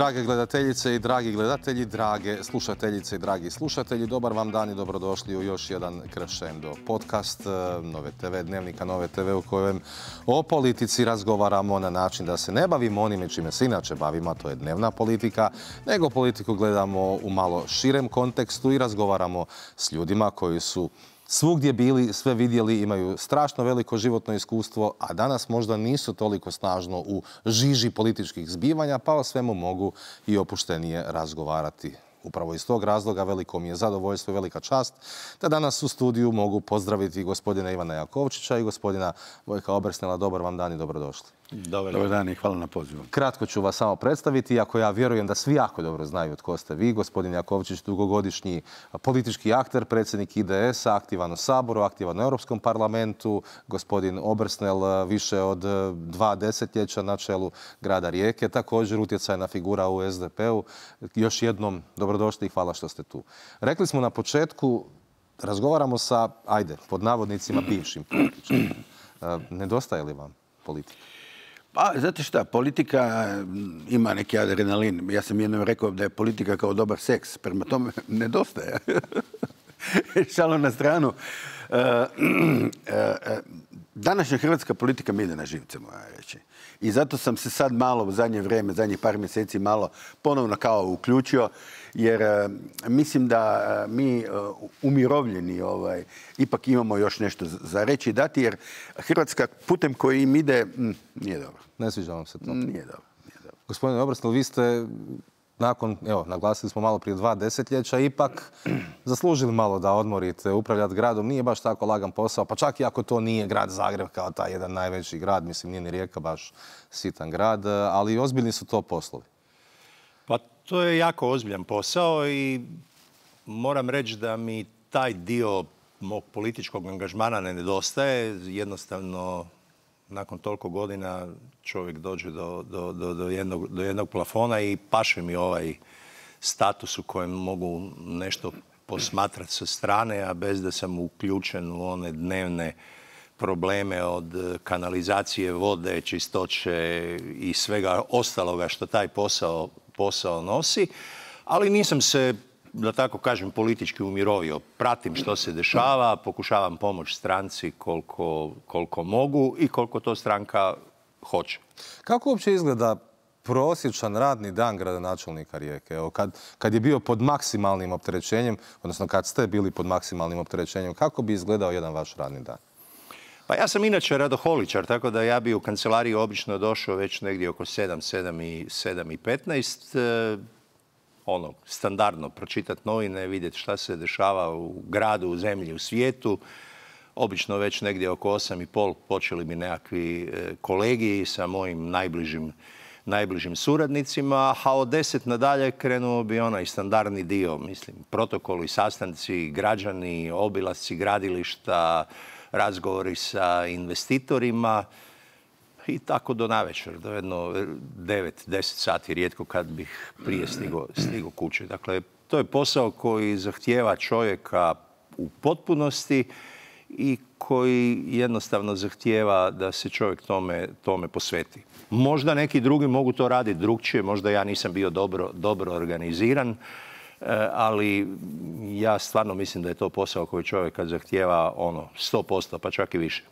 Drage gledateljice i dragi gledatelji, drage slušateljice i dragi slušatelji, dobar vam dan i dobrodošli u još jedan Crescendo podcast Nove TV, dnevnika Nove TV u kojem o politici razgovaramo na način da se ne bavimo onime čime se inače bavimo, a to je dnevna politika, nego politiku gledamo u malo širem kontekstu i razgovaramo s ljudima koji su svugdje bili, sve vidjeli, imaju strašno veliko životno iskustvo, a danas možda nisu toliko snažno u žiži političkih zbivanja, pa o svemu mogu i opuštenije razgovarati. Upravo iz tog razloga veliko mi je zadovoljstvo i velika čast da danas u studiju mogu pozdraviti gospodina Ivana Jakovčića i gospodina Vojka Obersnela. Dobar vam dan i dobrodošli. Dobar dan i hvala na pozivu. Kratko ću vas samo predstaviti, iako ja vjerujem da svi jako dobro znaju tko ste vi. Gospodin Jakovčić, dugogodišnji politički akter, predsjednik IDS-a, aktivan u Saboru, aktivan u Europskom parlamentu. Gospodin Obersnel više od 2 desetljeća na čelu grada Rijeke, također utjecajna figura u SDP-u. Još jednom dobrodošli i hvala što ste tu. Rekli smo na početku, razgovaramo sa, ajde, pod navodnicima bivšim političarima. Nedostaje li vam politika? Pa, znate šta, politika ima neki adrenalin. Ja sam jednom rekao da je politika kao dobar seks. Prema tome, nedostaje. Šalom na stranu. Današnja hrvatska politika mi ide na živce, moja reći. I zato sam se sad malo u zadnje vrijeme, zadnjih par mjeseci malo ponovno kao uključio, jer mislim da mi umirovljeni ipak imamo još nešto za reći i dati, jer Hrvatska putem koji im ide nije dobro. Ne sviđa vam se to? Nije dobro. Gospodine Obersnel, vi ste nakon, evo, naglasili smo malo prije 2 desetljeća, ipak zaslužili malo da odmorite. Upravljati gradom nije baš tako lagan posao, pa čak i ako to nije grad Zagreb kao taj jedan najveći grad, mislim nije ni Rijeka baš sitan grad, ali ozbiljni su to poslovi. Pa to je jako ozbiljan posao i moram reći da mi taj dio mog političkog angažmana ne nedostaje. Jednostavno, nakon toliko godina čovjek dođe do jednog plafona i paše mi ovaj status u kojem mogu nešto posmatrati sa strane, a bez da sam uključen u one dnevne probleme od kanalizacije vode, čistoće i svega ostaloga što taj posao nosi. Ali nisam se, da tako kažem, politički umirovio. Pratim što se dešava, pokušavam pomoći stranci koliko mogu i koliko to stranka hoće. Kako uopće izgleda prosječan radni dan gradonačelnika Rijeke? Evo, kad je bio pod maksimalnim opterećenjem, odnosno kad ste bili pod maksimalnim opterećenjem, kako bi izgledao jedan vaš radni dan? Pa ja sam inače radoholičar, tako da ja bi u kancelariju obično došao već negdje oko 7:15. Standardno pročitati novine, vidjeti šta se dešava u gradu, u zemlji, u svijetu. Obično već negdje oko 8:30 počeli bi nekakvi kolegiji sa mojim najbližim suradnicima, a od 10 nadalje krenuo bi onaj standardni dio, mislim, protokoli, sastanci, građani, obilasci gradilišta, razgovori sa investitorima i tako do navečer, do jedno 9-10 sati, rijetko kad bih prije stigao kući. Dakle, to je posao koji zahtijeva čovjeka u potpunosti i koji jednostavno zahtijeva da se čovjek tome posveti. Možda neki drugi mogu to raditi drukčije, možda ja nisam bio dobro organiziran, ali ja stvarno mislim da je to posao koji čovjeka zahtijeva 100%, pa čak i više.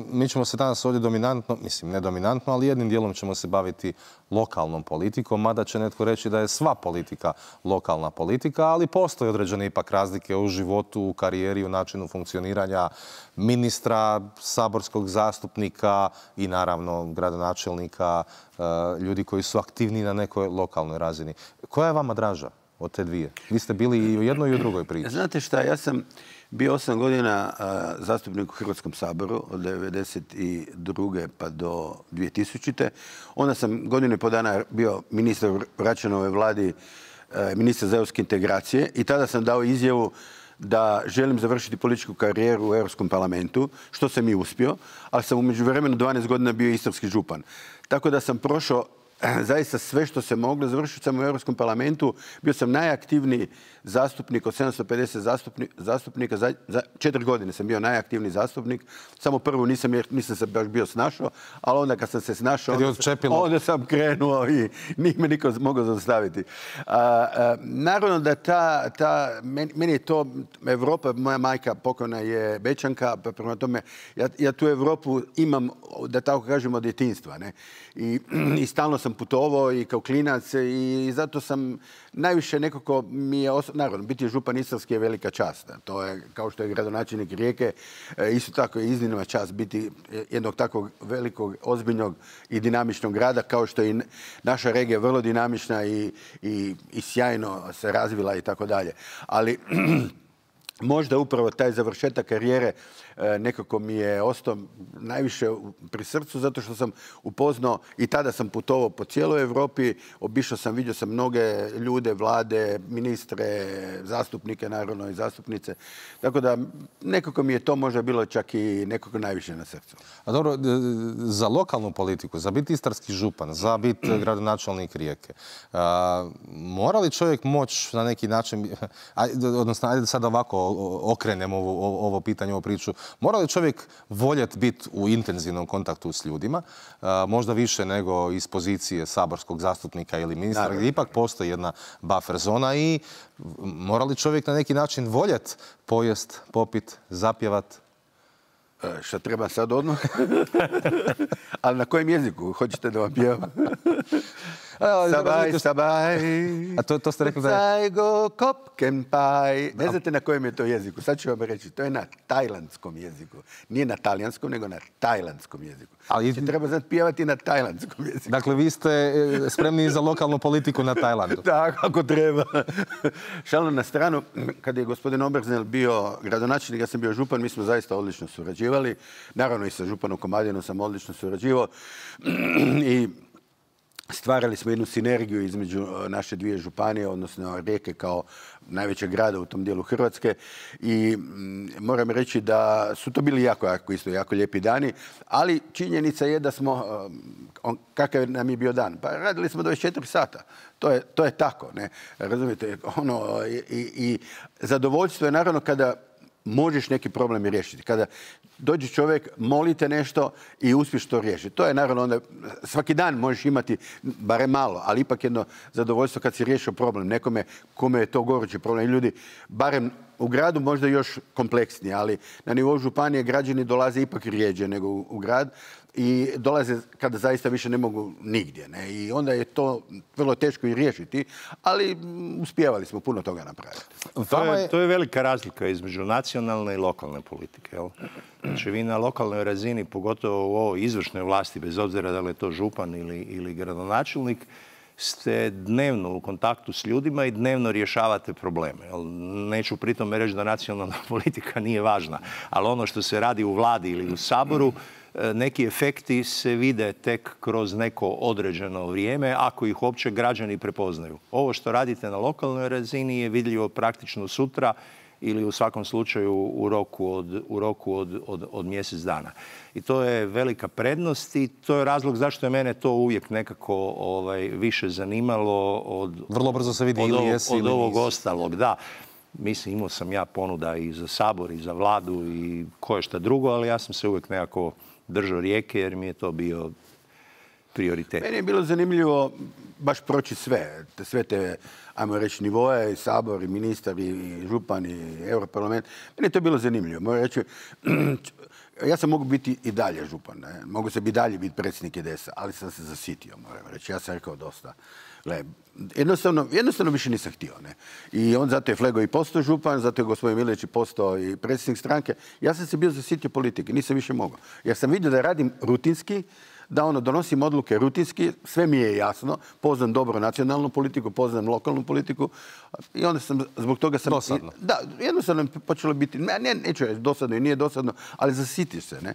Mi ćemo se danas ovdje dominantno, mislim ne dominantno, ali jednim dijelom ćemo se baviti lokalnom politikom, mada će netko reći da je sva politika lokalna politika, ali postoje određene ipak razlike u životu, u karijeri, u načinu funkcioniranja ministra, saborskog zastupnika i naravno gradonačelnika, ljudi koji su aktivni na nekoj lokalnoj razini. Koja je vama draža od te dvije? Vi ste bili i u jednoj i u drugoj priči. Znate šta, ja sam bio 8 godina zastupnik u Hrvatskom saboru od 1992. pa do 2000. Onda sam godinu i pol dana bio ministar u Račanovoj vladi, ministar za europske integracije i tada sam dao izjavu da želim završiti političku karijeru u Europskom parlamentu, što sam i uspio, ali sam u međuvremenu 12 godina bio istarski župan. Tako da sam prošao zaista sve što se moglo. Završio sam u Europskom parlamentu. Bio sam najaktivniji zastupnik od 750 zastupnika. Za 4 godine sam bio najaktivniji zastupnik. Samo prvu nisam se baš bio snašao, ali onda kad sam se snašao, onda sam krenuo i nije me niko mogao zaustaviti. Naravno da meni je to Evropa, moja majka pokojna je Bečanka, pa prema tome ja tu Evropu imam, da tako kažem, od djetinjstva. I stalno sam putovao i kao klinac i zato sam najviše nekako mi je, naravno, biti župan Istarski je velika čast. To je, kao što je gradonačelnik Rijeke, isto tako je iznimna čast biti jednog takvog velikog, ozbiljnog i dinamičnog grada, kao što je i naša regija vrlo dinamična i sjajno se razvila i tako dalje. Ali možda upravo taj završetak karijere nekako mi je ostao najviše pri srcu, zato što sam upoznao i tada sam putovao po cijeloj Europi, obišao sam, vidio sam mnoge ljude, vlade, ministre, zastupnike, naravno i zastupnice. Tako da nekako mi je to možda bilo čak i nekako najviše na srcu. A dobro, za lokalnu politiku, za biti istarski župan, za biti gradonačelnik Rijeke, mora li čovjek moći na neki način, odnosno ajde sad ovako okrenemo ovo pitanje, ovu priču, mora li čovjek voljeti biti u intenzivnom kontaktu s ljudima, možda više nego iz pozicije saborskog zastupnika ili ministra, gdje ipak postoji jedna buffer zona i mora li čovjek na neki način voljeti pojest, popit, zapjevat? Šta treba sad odmah? Ali na kojem jeziku? Hoćete da vam pjevam? Sabaj. A to ste rekli da je... Zajgo kopkenpaj. Ne znate na kojem je to jeziku? Sad ću vam reći. To je na tajlandskom jeziku. Nije na talijanskom, nego na tajlandskom jeziku. Znači, treba znati pjevati na tajlandskom jeziku. Dakle, vi ste spremni za lokalnu politiku na Tajlandu. Tako, ako treba. Šalno na stranu, kad je gospodin Obersnel bio gradonačelnik, ja sam bio župan, mi smo zaista odlično surađivali. Naravno i sa županom Komadinu sam odlično surađivao. I stvarali smo jednu sinergiju između naše dvije županije, odnosno Rijeke kao najvećeg grada u tom dijelu Hrvatske. I moram reći da su to bili jako lijepi dani, ali činjenica je da smo, kakav nam je bio dan? Pa radili smo 24 sata. To je tako, ne? Razumijete? I zadovoljstvo je naravno kada možeš neki problem riješiti. Kada dođe čovjek, molite nešto i uspješ to riješiti. To je naravno onda, svaki dan možeš imati barem malo, ali ipak jedno zadovoljstvo kad si riješio problem nekome kome je to gorući problem. I ljudi, barem u gradu možda još kompleksnije, ali na nivou županije građani dolaze ipak rijeđe nego u grad i dolaze kada zaista više ne mogu nigdje. Ne? I onda je to vrlo teško i riješiti, ali uspijevali smo puno toga napraviti. To je velika razlika između nacionalne i lokalne politike. Jel? Znači vi na lokalnoj razini, pogotovo u ovoj izvršnoj vlasti, bez obzira da li je to župan ili gradonačelnik, ste dnevno u kontaktu s ljudima i dnevno rješavate probleme. Neću pritom reći da nacionalna politika nije važna, ali ono što se radi u vladi ili u Saboru, neki efekti se vide tek kroz neko određeno vrijeme, ako ih uopće građani prepoznaju. Ovo što radite na lokalnoj razini je vidljivo praktično sutra ili u svakom slučaju u roku od mjesec dana. I to je velika prednost i to je razlog zašto je mene to uvijek nekako više zanimalo od, vrlo brzo se vidi ili jesi od ovog ostalog. Da. Mislim, imao sam ja ponuda i za Sabor i za vladu i koje šta drugo, ali ja sam se uvijek nekako držao Rijeke jer mi je to bio prioritet. Meni je bilo zanimljivo baš proći sve te, ajmo reći, nivoje, i Sabor, i ministar, i župan, i Europarlament. Meni je to bilo zanimljivo. Moram reći, ja sam mogu biti i dalje župan, ne? Mogu se i dalje biti predsjednik IDS-a, ali sam se zasitio, moram reći. Ja sam rekao dosta. Gle, jednostavno više nisam htio. Ne? I on zato je Flego i postao župan, zato je gospodin Milić i postao i predsjednik stranke. Ja sam se bio zasitio politike, nisam više mogao. Jer sam vidio da radim rutinski, da donosim odluke rutinski, sve mi je jasno, poznam dobro nacionalnu politiku, poznam lokalnu politiku i onda sam, zbog toga sam... Dosadno. Da, jednostavno je počelo biti, neću reći dosadno i nije dosadno, ali zasitiš se, ne?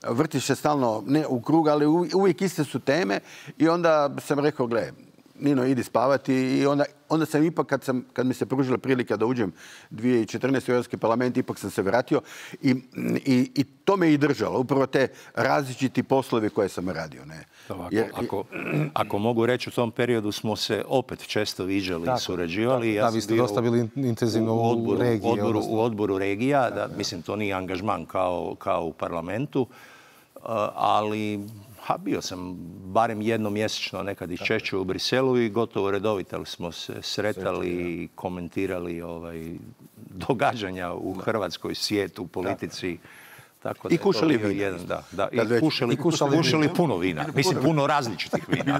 Vrtiš se stalno, ne u krug, ali uvijek iste su teme i onda sam rekao, gle, Nino, idi spavati. I onda sam ipak, kad mi se pružila prilika da uđem 2014. u Europski parlament, ipak sam se vratio i to me i držalo. Upravo te različiti poslovi koje sam radio. Ne? Ako mogu reći, u tom periodu smo se opet često viđali i surađivali. Da, vi ste dosta bili intenzivno u odboru regija. Da, mislim, to nije angažman kao u parlamentu, ali bio sam barem jednom mjesečno, nekad i češće u Briselu i gotovo redovito smo se sretali i komentirali događanja u Hrvatskoj, svijetu, politici. Tako da i kušali vina. I kušali puno vina. Mislim, puno različitih vina.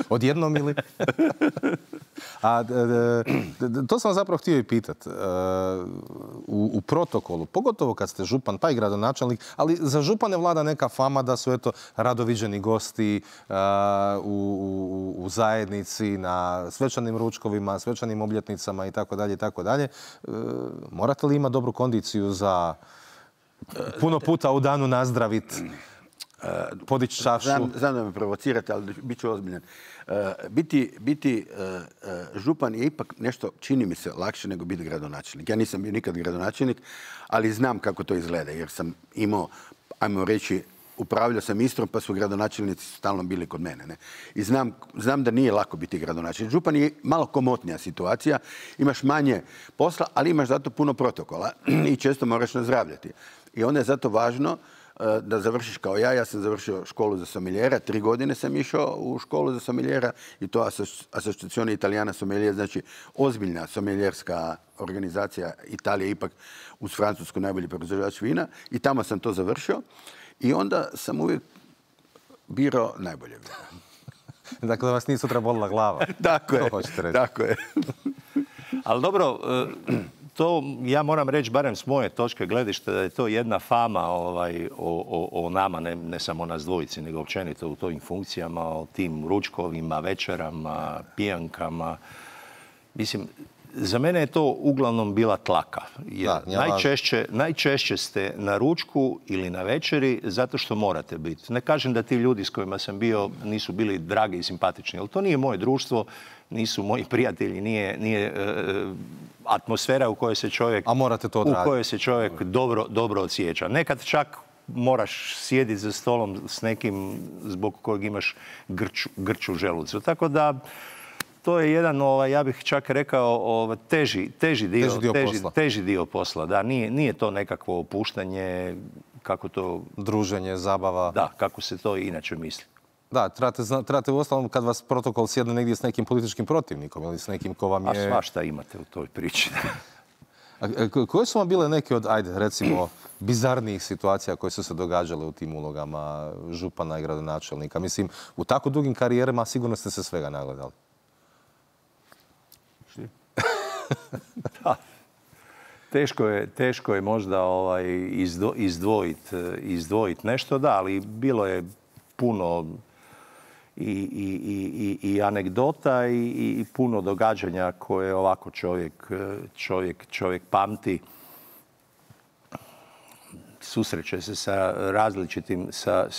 Odjednom ili? To sam zapravo htio i pitati. U protokolu, pogotovo kad ste župan, pa i gradonačelnik, ali za župane vlada neka fama da su rado viđeni gosti u zajednici, na svečanim ručkovima, svečanim obljetnicama itd. Morate li imati dobru kondiciju za puno puta u danu nazdraviti, podići čašu? Znam da me provocirate, ali bit ću ozbiljan. Biti župan je ipak nešto, čini mi se, lakše nego biti gradonačelnik. Ja nisam bio nikad gradonačelnik, ali znam kako to izgleda, jer sam imao, ajmo reći, upravljao sam Istrom, pa su gradonačelnici stalno bili kod mene. Ne? I znam da nije lako biti gradonačelnik. Župan je malo komotnija situacija, imaš manje posla, ali imaš zato puno protokola i često moraš nazdravljati. I onda je zato važno da završiš kao ja. Ja sam završio školu za sommeliera, 3 godine sam išao u školu za sommeliera i to Associazione Italiana Sommelier, znači ozbiljna sommelierska organizacija. Italija ipak uz Francusku najbolji proizvođač vina i tamo sam to završio i onda sam uvijek birao najbolje vina. Dakle, da vas nije sutra bolila glava. Tako je. Ali dobro, to ja moram reći, barem s moje točke gledišta, da je to jedna fama o nama, ne samo nas dvojici, nego općenito u tojim funkcijama, o tim ručkovima, večerama, pijankama. Mislim, za mene je to uglavnom bila tlaka. Jer najčešće ste na ručku ili na večeri zato što morate biti. Ne kažem da ti ljudi s kojima sam bio nisu bili dragi i simpatični, ali to nije moje društvo, nisu moji prijatelji, nije atmosfera u kojoj se čovjek dobro osjeća. Nekad čak moraš sjediti za stolom s nekim zbog kojeg imaš grču želucu. Tako da to je jedan, ja bih čak rekao, teži dio posla. Da, nije to nekakvo opuštanje, kako to... Druženje, zabava. Da, kako se to inače misli. Da, trebate uostalom kad vas protokol sjedne negdje s nekim političkim protivnikom ili s nekim ko vam je... A svašta imate u toj priči. Koje su vam bile neke od, recimo, bizarnijih situacija koje su se događale u tim ulogama župana i gradonačelnika? Mislim, u tako dugim karijerama sigurno ste se svega nagledali. Da. Teško je možda izdvojiti nešto, da, ali bilo je puno i anegdota i puno događanja koje ovako čovjek pamti. Susreće se sa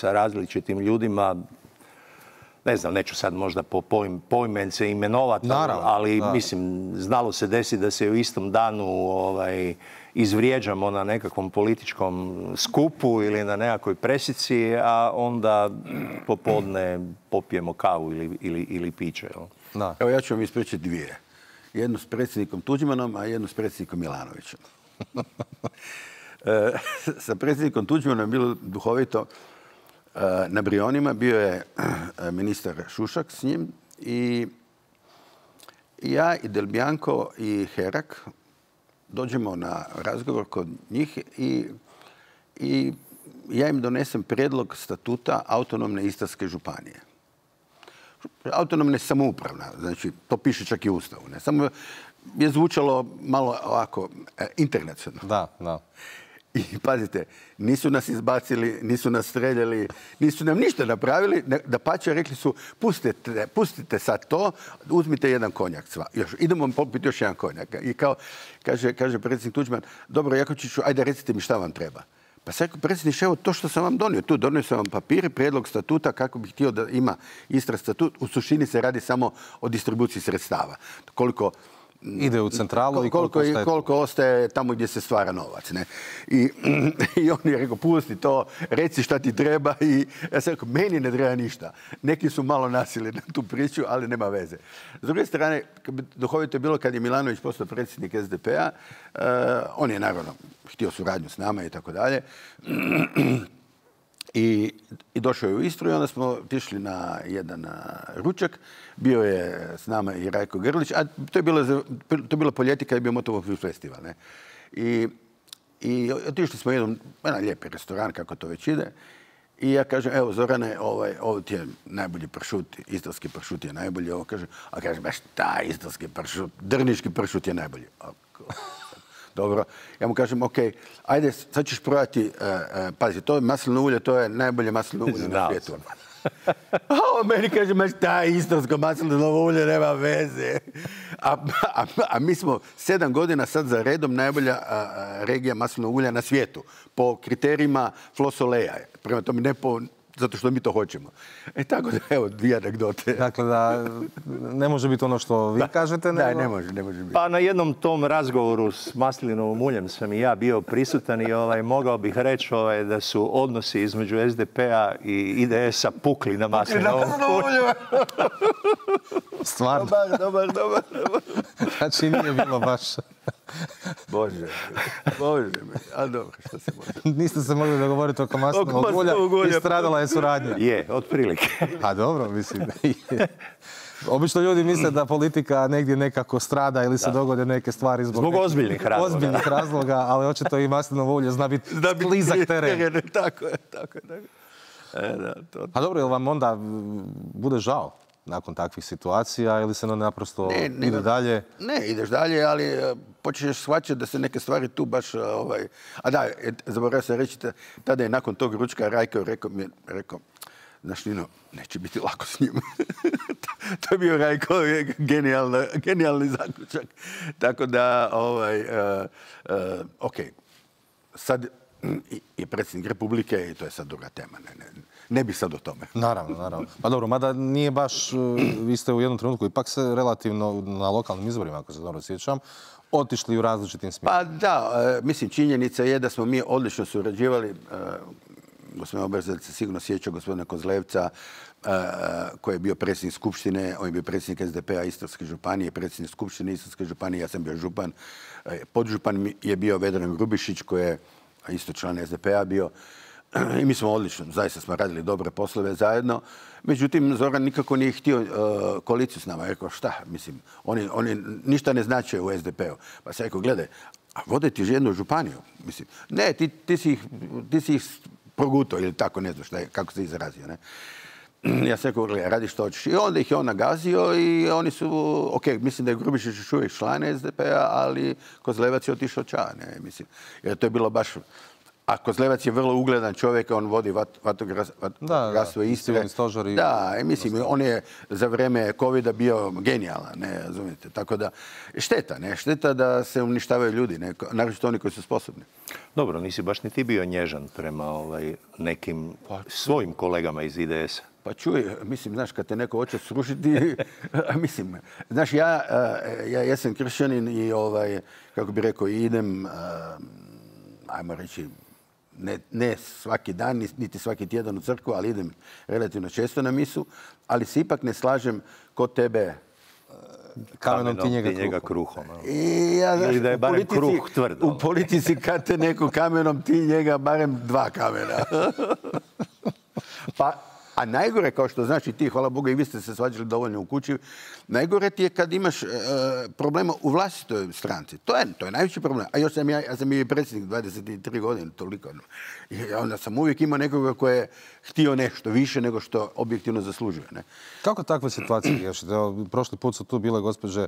različitim ljudima. Ne znam, neću sad možda poimence imenovati, ali mislim, znalo se desiti da se u istom danu izvrijeđamo na nekakvom političkom skupu ili na nekakvoj presici, a onda popodne popijemo kavu ili piće. Evo ja ću vam ispričati dvije. Jednu s predsjednikom Tuđmanom, a jednu s predsjednikom Milanovićem. Sa predsjednikom Tuđmanom je bilo duhovito. Na Brionima bio je ministar Šušak s njim i ja i Del Bianco i Herak dođemo na razgovor kod njih i ja im donesem prijedlog statuta autonomne Istarske županije. Autonomne samoupravna, znači to piše čak i u Ustavu. Ne? Samo je zvučalo malo ovako internacionalno. Da. I pazite, nisu nas izbacili, nisu nas streljali, nisu nam ništa napravili. Dapače, rekli su, pustite sad to, uzmite jedan konjak. Idemo popiti još jedan konjak. I kao, kaže predsjednik Tuđman, dobro, Jakovčiću, ajde recite mi šta vam treba. Pa sad, predsjedniče, evo to što sam vam donio. Tu donio sam vam papire, prijedlog statuta kako bih htio da ima Istra statut. U suštini se radi samo o distribuciji sredstava. Koliko ide u centralu i koliko ostaje tamo gdje se stvara novac. Ne? I on je rekao, pusti to, reci šta ti treba. I ja sam rekao, meni ne treba ništa. Neki su malo nasili na tu priču, ali nema veze. S druge strane, duhovito je bilo kad je Milanović postao predsjednik SDP-a, on je naravno htio suradnju s nama i tako dalje. I došao je u Istru i onda smo otišli na jedan ručak. Bio je s nama i Rajko Grlić, a to je bilo po ljeti kad je bio Motovog festival. Ne? I otišli smo u jedan lijepi restoran, kako to već ide. I ja kažem, evo Zorane, ovo ti je najbolji pršut, istarski pršut je najbolji. Ovo kaže, a kažem, baš taj istarski pršut, drniški pršut je najbolji. Dobro, ja mu kažem, ok, ajde, sad ćeš probati, pazi, to je maslino ulje, to je najbolje maslino ulje na svijetu. A meni kaže, taj istarsko maslinovo ulje nema veze. A mi smo 7 godina sad za redom najbolja regija maslinovog ulja na svijetu. Po kriterijima Flosoleja. Prema tome ne zato što mi to hoćemo. Tako da, evo, 2 anegdote. Dakle, da ne može biti ono što vi kažete, nego... Da, ne može biti. Pa na jednom tom razgovoru s maslinovom uljem sam i ja bio prisutan i mogao bih reći da su odnosi između SDP-a i IDS-a pukli na maslinovom ulju. Stvarno? Dobar. Znači, nije bilo baš... Bože, a dobro, što se može. Niste se mogli dogovoriti oko maslinovog ulja i stradala je suradnja. Je, otprilike. A dobro, mislim. Obično ljudi misle da politika negdje nekako strada ili se dogode neke stvari zbog ozbiljnih razloga, ali očito i maslinovo ulje zna biti sklizak teren. Tako je. A dobro, ili vam onda bude žao nakon takvih situacija ili se naprosto ide dalje? Ne, ideš dalje, ali počneš shvaćati da se neke stvari tu baš... A da, zaboravio sam reći, tada je nakon tog ručka Rajko rekao, znaš, Nino, neće biti lako s njim. To je bio Rajko, genijalni zaključak. Tako da, ok, sad je predsjednik Republike i to je sad druga tema. Ne bi sad o tome. Naravno. Pa dobro, mada nije baš, vi ste u jednom trenutku ipak se relativno na lokalnim izborima, ako se dobro sjećam, otišli u različitim smjerima. Pa da, mislim, činjenica je da smo mi odlično surađivali. Gospodin Obersdorf se sigurno sjeća gospodina Kozlevca, koji je bio predsjednik Skupštine, on je bio predsjednik SDP-a Istarske županije, predsjednik Skupštine Istarske županije, ja sam bio župan. Podžupan je bio Vedran Grubišić, koji je isto član SDP-a bio. I mi smo odlično, zaista smo radili dobre poslove zajedno. Međutim, Zoran nikako nije htio koaliciju s nama. Rekao, šta, mislim, oni ništa ne znače u SDP-u. Pa sam rekao, gledaj, a vode ti jednu županiju. Mislim, ne, ti si ih progutao ili tako, ne znam kako se izrazio. Ne? Ja sam rekao, gledaj, radi što hoćeš. I onda ih je on nagazio i oni su, ok, mislim da je Grubišić još uvijek član SDP-a, ali Kozlevac je otišao ča, ne, mislim. Jer to je bilo baš... A Kozlevac je vrlo ugledan čovjek, on vodi vatrogastvo Istre. Da, mislim, on je za vrijeme covida bio genijalan, ne razumijete. Tako da, šteta da se uništavaju ljudi, naročito oni koji su sposobni. Dobro, nisi baš ni ti bio nježan prema nekim svojim kolegama iz IDS-a. Pa čuj, mislim, znaš, kad te neko hoće srušiti, mislim, znaš, ja sam kršćanin i, kako bi rekao, idem, ajmo reći, ne svaki dan, niti svaki tjedan u crkvu, ali idem relativno često na misu, ali se ipak ne slažem kod tebe. Kamenom ti njega kruhom. Ili da je barem kruh tvrdo. U politici kad te neko kamenom, ti njega barem 2 kamena. A najgore, kao što znaš i ti, hvala Bogu, i vi ste se svađali dovoljno u kući, najgore ti je kad imaš problema u vlastitoj stranci. To je najveći problem. A još sam i predsjednik 23 godine, toliko. I onda sam uvijek imao nekoga koji je htio nešto više nego što objektivno zaslužuje. Ne? Kako takve situacije riješite? Prošli put su tu bile gospođe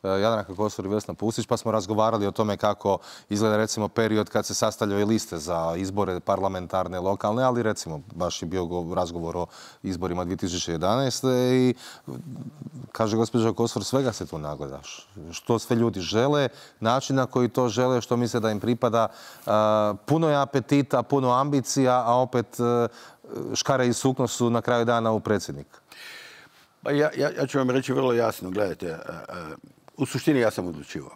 Jadranka Kosor i Vesna Pusić, pa smo razgovarali o tome kako izgleda recimo period kad se sastavljaju liste za izbore parlamentarne, lokalne, ali recimo baš je bio razgovor o izborima 2011. I kaže gospođa Kosor, svega se tu nagledaš. Što sve ljudi žele, način na koji to žele, što misle da im pripada. Puno je apetita, puno ambicija, a opet škare i sukno su na kraju dana u predsjednika. Pa ja ću vam reći vrlo jasno, gledajte, u suštini ja sam odlučivao.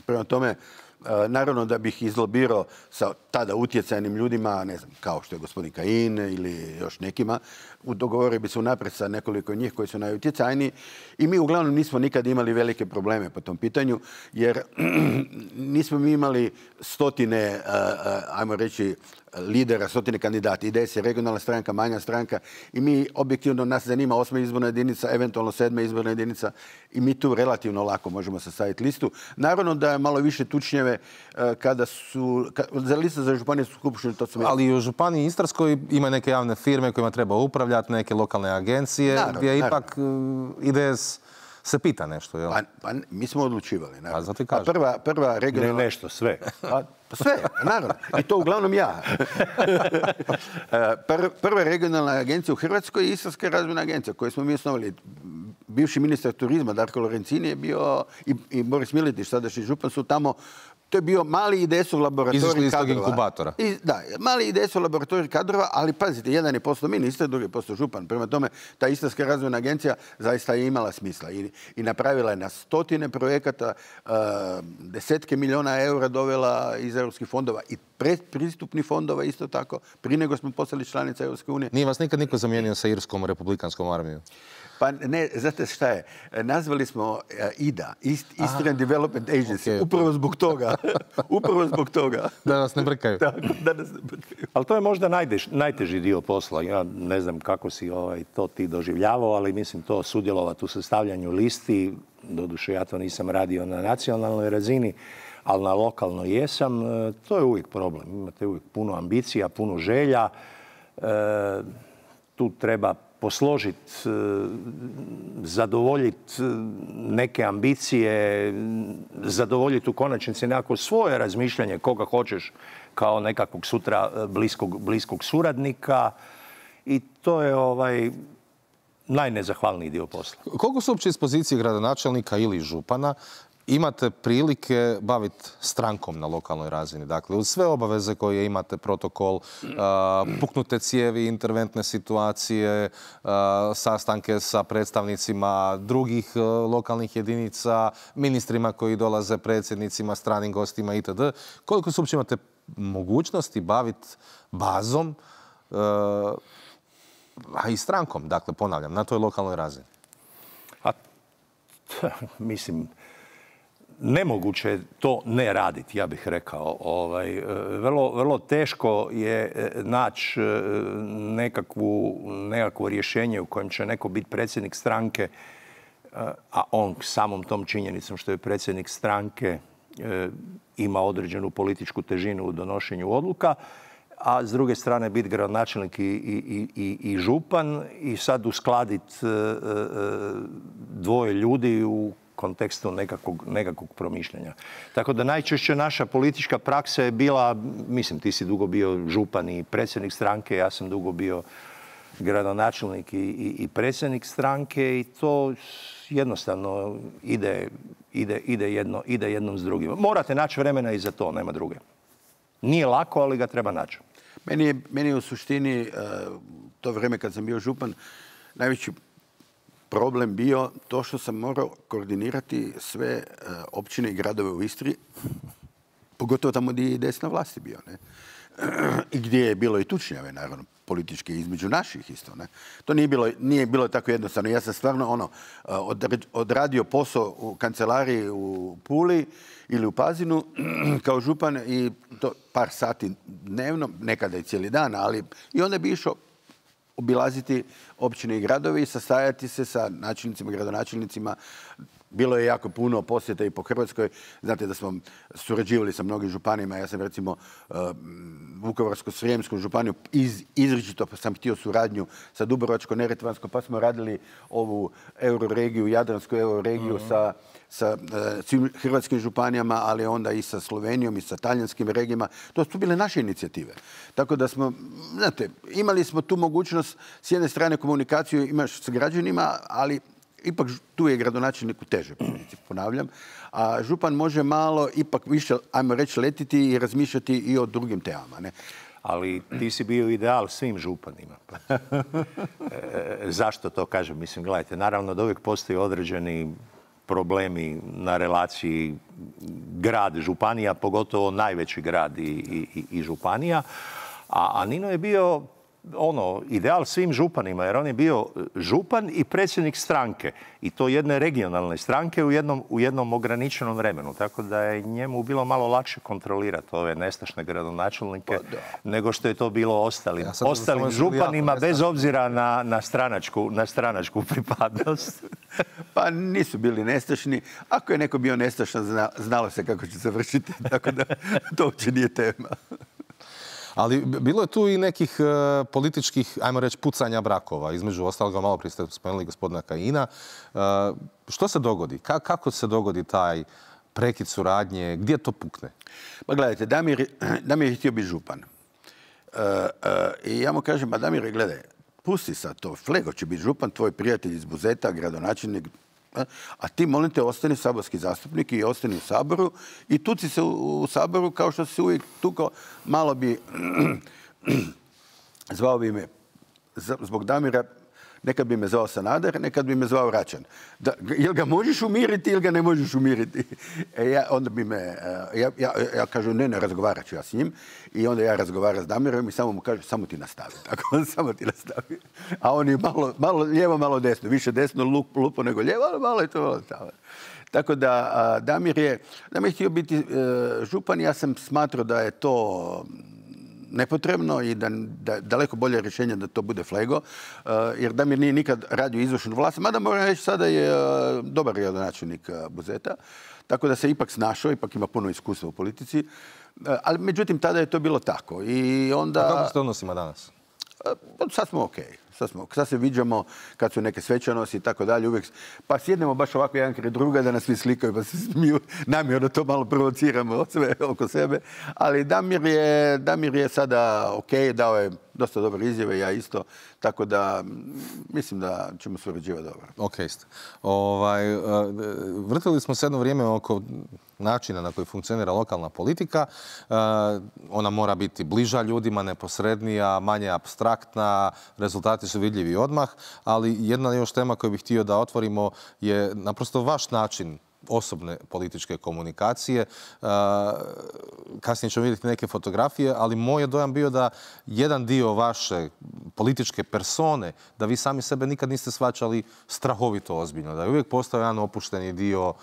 Prema tome, naravno da bih izlobirao sa tada utjecajnim ljudima, ne znam, kao što je gospodin Kajin ili još nekima, dogovorio bi se unaprijed sa nekoliko njih koji su najutjecajniji i mi uglavnom nismo nikad imali velike probleme po tom pitanju, jer nismo mi imali stotine, ajmo reći, lidera, stotine kandidata. IDS je regionalna stranka, manja stranka i mi objektivno nas zanima 8. izborna jedinica, eventualno 7. izborna jedinica i mi tu relativno lako možemo sastaviti listu. Naravno da je malo više tučnjeve kada su, za listu za županijsku skupštinu, to su... Ali i u Županiji Istarskoj ima neke javne firme kojima treba upravljati, neke lokalne agencije, naravno, gdje ipak IDS se pita nešto, jel? Pa mi smo odlučivali, naravno. A zato i kažem. Prva regionalna... Ne nešto, sve. Sve, naravno. I to uglavnom ja. Prva regionalna agencija u Hrvatskoj je Istarska razvojna agencija koju smo mi osnovali. Bivši ministar turizma Darko Lorencini je bio i Boris Miletić, sadašnji župan, su tamo. To je bio mali IDS-ov laboratorij kadrova. Izišli iz tog inkubatora. Da, mali IDS-ov laboratorij kadrova, ali pazite, jedan je postao ministar, drugi je postao župan. Prema tome, ta Istarska razvojna agencija zaista je imala smisla i napravila je na stotine projekata, desetke milijuna eura dovela iz europskih fondova i predpristupnih fondova isto tako, prije nego smo postali članica Europske unije. Nije vas nikad niko zamijenio sa Irskom republikanskom armijom? Pa ne, znate šta je? Nazvali smo IDA, Eastern Development Agency, upravo zbog toga. Upravo zbog toga. Da nas ne brkaju. Da nas ne brkaju. Ali to je možda najteži dio posla. Ja ne znam kako si to ti doživljavao, ali mislim to sudjelovati u sastavljanju listi. Doduše, ja to nisam radio na nacionalnoj razini, ali na lokalnoj jesam. To je uvijek problem. Imate uvijek puno ambicija, puno želja. Tu treba posložiti, zadovoljiti neke ambicije, zadovoljiti u konačnici nekako svoje razmišljanje koga hoćeš kao nekakvog sutra bliskog suradnika i to je najnezahvalniji dio posla. Koliko su uopće iz pozicije gradonačelnika ili župana imate prilike baviti strankom na lokalnoj razini? Dakle, uz sve obaveze koje imate, protokol, puknute cijevi, interventne situacije, sastanke sa predstavnicima drugih lokalnih jedinica, ministrima koji dolaze, predsjednicima, stranim gostima itd. Koliko su uopće imate mogućnosti baviti bazom, a i strankom, dakle, ponavljam, na toj lokalnoj razini? Mislim, nemoguće je to ne raditi, ja bih rekao. Vrlo teško je naći nekakvo rješenje u kojem će neko biti predsjednik stranke, a on samom tom činjenicom što je predsjednik stranke ima određenu političku težinu u donošenju odluka, a s druge strane biti gradonačelnik i župan i sad uskladiti dvoje ljudi u kontekstu nekakvog promišljanja. Tako da najčešće naša politička praksa je bila, mislim, ti si dugo bio župan i predsjednik stranke, ja sam dugo bio gradonačelnik i predsjednik stranke i to jednostavno ide jednom s drugim. Morate naći vremena i za to, nema druge. Nije lako, ali ga treba naći. Meni je u suštini to vrijeme kad sam bio župan najveći problem bio to što sam morao koordinirati sve općine i gradove u Istri, pogotovo tamo gdje je IDS na vlasti bio. Ne? I gdje je bilo i tučnjave, naravno, političke između naših isto. Ne? To nije bilo tako jednostavno. Ja sam stvarno odradio posao u kancelariji u Puli ili u Pazinu kao župan i to par sati dnevno, nekada i cijeli dan, ali i onda bi išao obilaziti općine i gradovi i sastajati se sa načelnicima, gradonačelnicima, bilo je jako puno posjeta i po Hrvatskoj. Znate da smo surađivali sa mnogim županijama. Ja sam recimo Vukovarsko-srijemskom županiju izričito sam htio suradnju sa Dubrovačko-neretvanskom, pa smo radili ovu euroregiju, Jadransku euroregiju sa svim hrvatskim županijama, ali onda i sa Slovenijom i sa talijanskim regijama. To su bile naše inicijative. Tako da smo, znate, imali smo tu mogućnost s jedne strane komunikaciju imaš s građanima, ali ipak tu je gradonačelnik u teže poziciji, ponavljam. A župan može malo ipak više, ajmo reći, letiti i razmišljati i o drugim temama. Ne? Ali ti si bio ideal svim županima. Zašto to kažem? Mislim, gledajte, naravno da uvijek postoji određeni problemi na relaciji grad-županija, pogotovo najveći grad i županija. A Nino je bio ideal svim županima, jer on je bio župan i predsjednik stranke. I to jedne regionalne stranke u jednom ograničenom vremenu. Tako da je njemu bilo malo lakše kontrolirati ove nestašne gradonačelnike nego što je to bilo ostalim županima, bez obzira na stranačku pripadnost. Pa nisu bili nestašni. Ako je neko bio nestašan, znalo se kako će završiti. Tako da to uopće nije tema. Ali bilo je tu i nekih političkih, ajmo reći, pucanja brakova. Između ostaloga, malo prije ste spomenuli gospodina Kajina. Što se dogodi? Kako se dogodi taj prekid suradnje? Gdje to pukne? Pa gledajte, Damir je htio biti župan. I ja mu kažem, pa Damire, gledaj, pusti sad to. Flego će biti župan, tvoj prijatelj iz Buzeta, gradonačelnik. A ti, molim te, ostani saborski zastupnik i ostani u Saboru i tuci se u Saboru kao što si uvijek tukao. Malo bi zvao bi me zbog Damira, nekad bi me zvao Sanader, nekad bi me zvao Račan. Jel ga možeš umiriti ili ga ne možeš umiriti? Onda bi me, ja kažem, ne razgovarat ću ja s njim. I onda ja razgovaram s Damirom i samo mu kažem, samo ti nastavi. Tako, samo ti nastavi. A on je malo lijevo, malo desno. Više desno lupo nego lijevo, ali malo je to malo tamo. Tako da Damir je htio biti župan. Ja sam smatrao da je to nepotrebno i da daleko bolje rješenje da to bude Flego, jer Damir nije nikad radio izvršnu vlast, mada moram reći sada je dobar gradonačelnik Buzeta, tako da se ipak snašao, ipak ima puno iskustva u politici, ali međutim tada je to bilo tako. I onda... A kako ste odnosima danas? Sad smo okej. Sad se viđamo kad su neke svečanosti i tako dalje. Uvijek, pa sjednemo baš ovako jedan kraj druga da nas svi slikaju pa se smiju. Namjerno to malo provociramo sve oko sebe. Ali Damir je sada okej, dao je dosta dobre izjave, ja isto. Tako da mislim da ćemo surađivati dobro. Okej ste. Vrtili smo se jedno vrijeme oko načina na koji funkcionira lokalna politika. Ona mora biti bliža ljudima, neposrednija, manje apstraktna, rezultati su vidljivi odmah, ali jedna još tema koju bih htio da otvorimo je naprosto vaš način osobne političke komunikacije. Kasnije ćemo vidjeti neke fotografije, ali moj je dojam bio da jedan dio vaše političke persone, da vi sami sebe nikad niste shvaćali strahovito ozbiljno. Da je uvijek postao jedan opušteni dio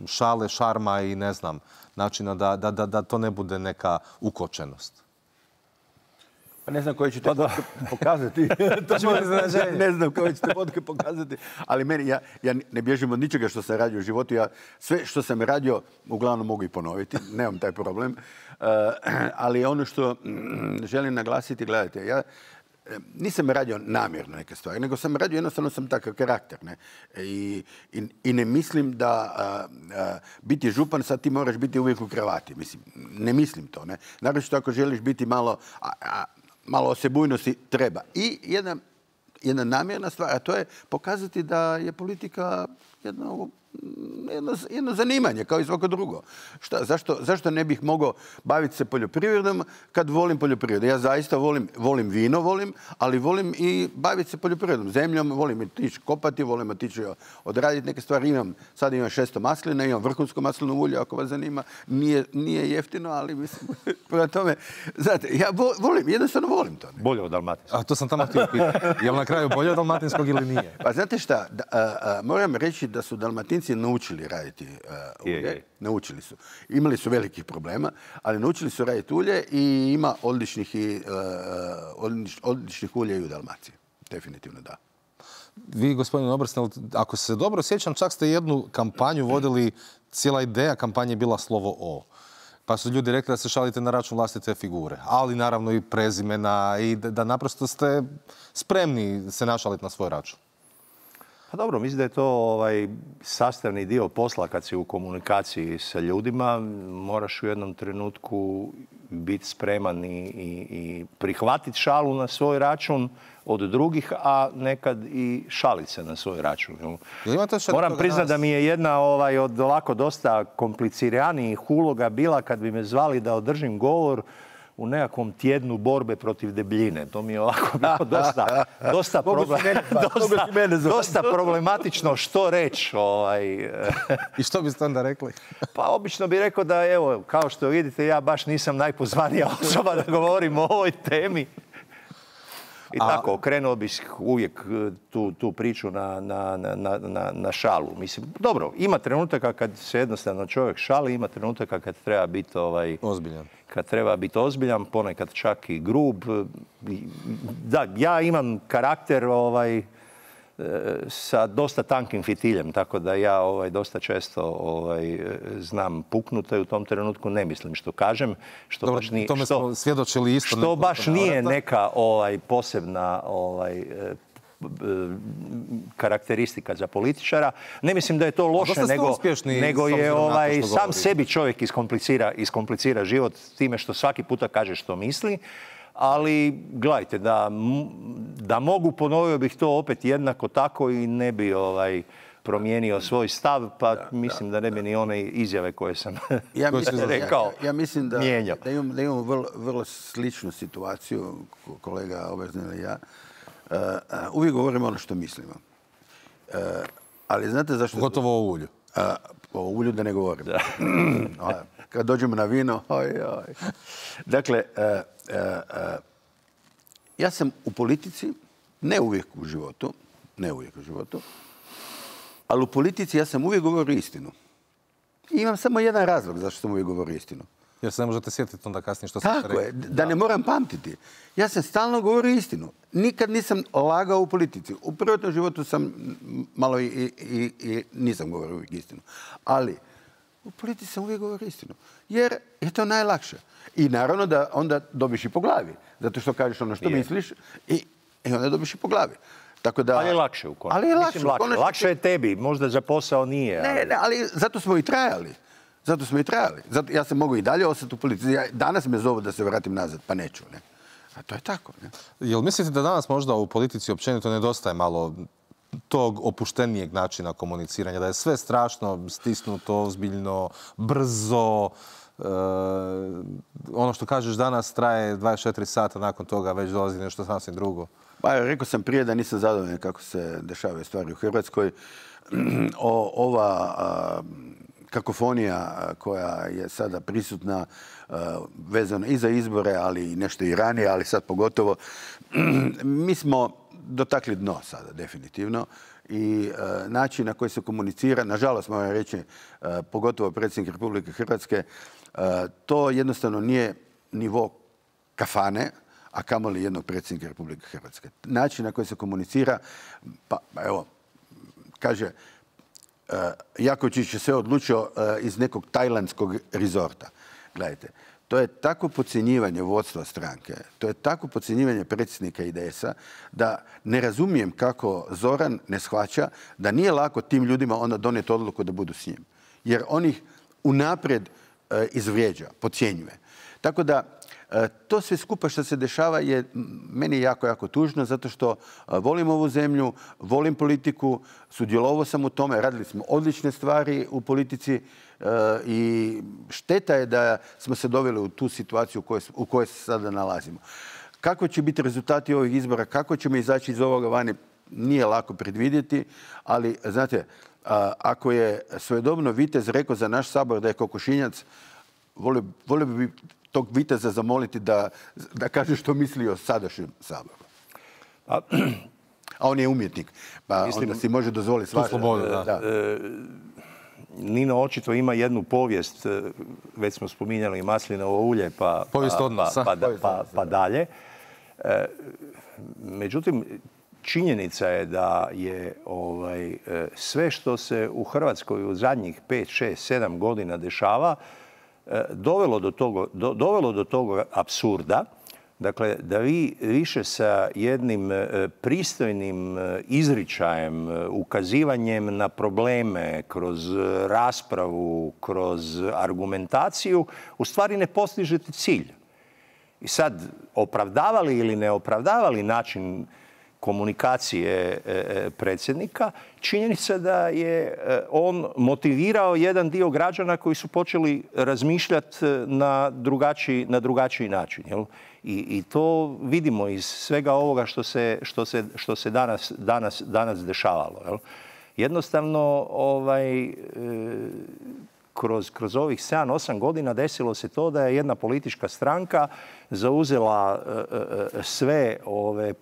šale, šarma i ne znam, načina da to ne bude neka ukočenost. Pa ne znam koje ćete pokazati. Ne znam koje ćete fotke pokazati. Ali meni, ja ne bježim od ničega što sam radio u životu. Ja sve što sam radio uglavnom mogu i ponoviti. Nemam taj problem. Ali ono što želim naglasiti, gledajte, ja nisam radio namjerno neke stvari, nego sam radio, jednostavno sam takav karakter. Ne? I ne mislim da biti župan sad ti moraš biti uvijek u kravati. Mislim, ne mislim to. Ne? Naravno ako želiš biti malo osebujnosti treba. I jedna namjerna stvar, a to je pokazati da je politika jedno zanimanje, kao i svako drugo. Zašto ne bih mogao baviti se poljoprivredom kad volim poljoprivredu? Ja zaista volim vino, ali volim i baviti se poljoprivredom, zemljom, volim otići kopati, volim otići odraditi neke stvari. Sad imam 600 maslina, imam vrhunsko maslino ulje, ako vas zanima. Nije jeftino, ali mislim, prema tome, znate, ja jednostavno volim to. Ne? Bolje od dalmatinskog. A to sam tamo htio pitati. Je li na kraju bolje od dalmatinskog ili nije? Pa znate šta, moram reći da su Dalmatinci naučili raditi ulje. Naučili su. Imali su velikih problema, ali naučili su raditi ulje i ima odličnih ulja i u Dalmaciji. Definitivno da. Vi, gospodin Obersnel, ako se dobro sjećam, čak ste jednu kampanju vodili, cijela ideja kampanje je bila slovo O. Pa su ljudi rekli da se šalite na račun vlastite figure, ali naravno i prezimena i da naprosto ste spremni se našaliti na svoj račun. Pa dobro, mislim da je to sastavni dio posla kad si u komunikaciji sa ljudima. Moraš u jednom trenutku biti spreman i prihvatiti šalu na svoj račun od drugih, a nekad i šalit se na svoj račun. Moram priznati da mi je jedna od ovako dosta kompliciranijih uloga bila kad bi me zvali da održim govor u nekakvom tjednu borbe protiv debljine. To mi je ovako bilo dosta problematično što reći. I što biste onda rekli? Pa obično bih rekao da, evo, kao što vidite, ja baš nisam najpozvanija osoba da govorim o ovoj temi. I tako, okrenuo bih uvijek tu priču na šalu. Mislim, dobro, ima trenutaka kad se jednostavno čovjek šali, ima trenutaka kad treba biti ozbiljan. Kad treba biti ozbiljan, ponekad čak i grub. Da, ja imam karakter sa dosta tankim fitiljem, tako da ja dosta često znam puknuti u tom trenutku, ne mislim što kažem. Što dobro, baš nije, tome smo svjedočili isto. Što baš nije neka posebna karakteristika za političara. Ne mislim da je to loše, nego je sam sebi čovjek iskomplicira život time što svaki puta kaže što misli. Ali, gledajte, da mogu, ponovio bih to opet jednako tako i ne bi promijenio svoj stav, pa mislim da ne bi ni one izjave koje sam rekao. Ja mislim da imamo vrlo sličnu situaciju, kolega Obersnel i ja. Uvijek govorimo ono što mislimo. Ali znate zašto... Gotovo o ulju. O ulju da ne govorim. Kad dođemo na vino, Dakle, ja sam u politici, ne uvijek u životu, ali u politici ja sam uvijek govorio istinu. I imam samo jedan razlog zašto sam uvijek govorio istinu. Jer se ne možete sjetiti onda kasnije što ste rekli. Tako je, da ne moram pamtiti. Ja sam stalno govorio istinu. Nikad nisam lagao u politici. U privatnom životu sam malo i nisam govorio uvijek istinu. Ali u politici sam uvijek govorio istinu. Jer je to najlakše. I naravno da onda dobiš i po glavi. Zato što kažeš ono što misliš i onda dobiš i po glavi. Tako da, ali je lakše u konačnici. Lakše je tebi, možda za posao nije. Ne, ali zato smo i trajali. Ja sam mogu i dalje ostati u politici. Danas me zovu da se vratim nazad, pa neću. Ne? A to je tako. Ne? Jel mislite da danas možda u politici općenito nedostaje malo tog opuštenijeg načina komuniciranja? Da je sve strašno, stisnuto, ozbiljno, brzo. Ono što kažeš danas traje 24 sata, nakon toga već dolazi nešto sasvim drugo. Pa rekao sam prije da nisam zadovoljan kako se dešavaju stvari u Hrvatskoj. Ova kakofonija koja je sada prisutna vezana i za izbore, ali i nešto i ranije, ali sad pogotovo. Mi smo dotakli dno sada, definitivno. I način na koji se komunicira, nažalost moram reći, pogotovo predsjednik Republike Hrvatske, to jednostavno nije nivo kafane, a kamoli jednog predsjednika Republike Hrvatske. Način na koji se komunicira, pa evo, kaže, Jakovčić je sve odlučio iz nekog tajlandskog rezorta. Gledajte, to je tako podcjenjivanje vodstva stranke, to je tako podcjenjivanje predsjednika IDS-a da ne razumijem kako Zoran ne shvaća da nije lako tim ljudima onda donijeti odluku da budu s njim. Jer on ih unaprijed izvrijeđa, podcjenjuje. Tako da to sve skupa što se dešava je meni jako, jako tužno zato što volim ovu zemlju, volim politiku, sudjelovao sam u tome, radili smo odlične stvari u politici i šteta je da smo se doveli u tu situaciju u kojoj se sada nalazimo. Kako će biti rezultati ovih izbora, kako ćemo izaći iz ovoga vani, nije lako predvidjeti, ali znate, ako je svojedobno vitez rekao za naš Sabor da je kokošinjac, volio bi tog viteza zamoliti da kaže što misli o sadašnjem Saboru. A on je umjetnik, pa onda si može dozvoliti svašta. Slobodu, da. Nino očito ima jednu povijest, već smo spominjali maslinovo ulje, povijest odnosa. Pa dalje. Međutim, činjenica je da je sve što se u Hrvatskoj u zadnjih 5, 6, 7 godina dešava dovelo do toga apsurda. Dakle, da vi više sa jednim pristojnim izričajem, ukazivanjem na probleme kroz raspravu, kroz argumentaciju, u stvari ne postižete cilj. I sad, opravdavali ili ne opravdavali način komunikacije predsjednika, činjenica da je on motivirao jedan dio građana koji su počeli razmišljati na drugačiji način. Jel? I to vidimo iz svega ovoga što se danas dešavalo. Jel? Jednostavno, kroz ovih 7-8 godina desilo se to da je jedna politička stranka zauzela sve ove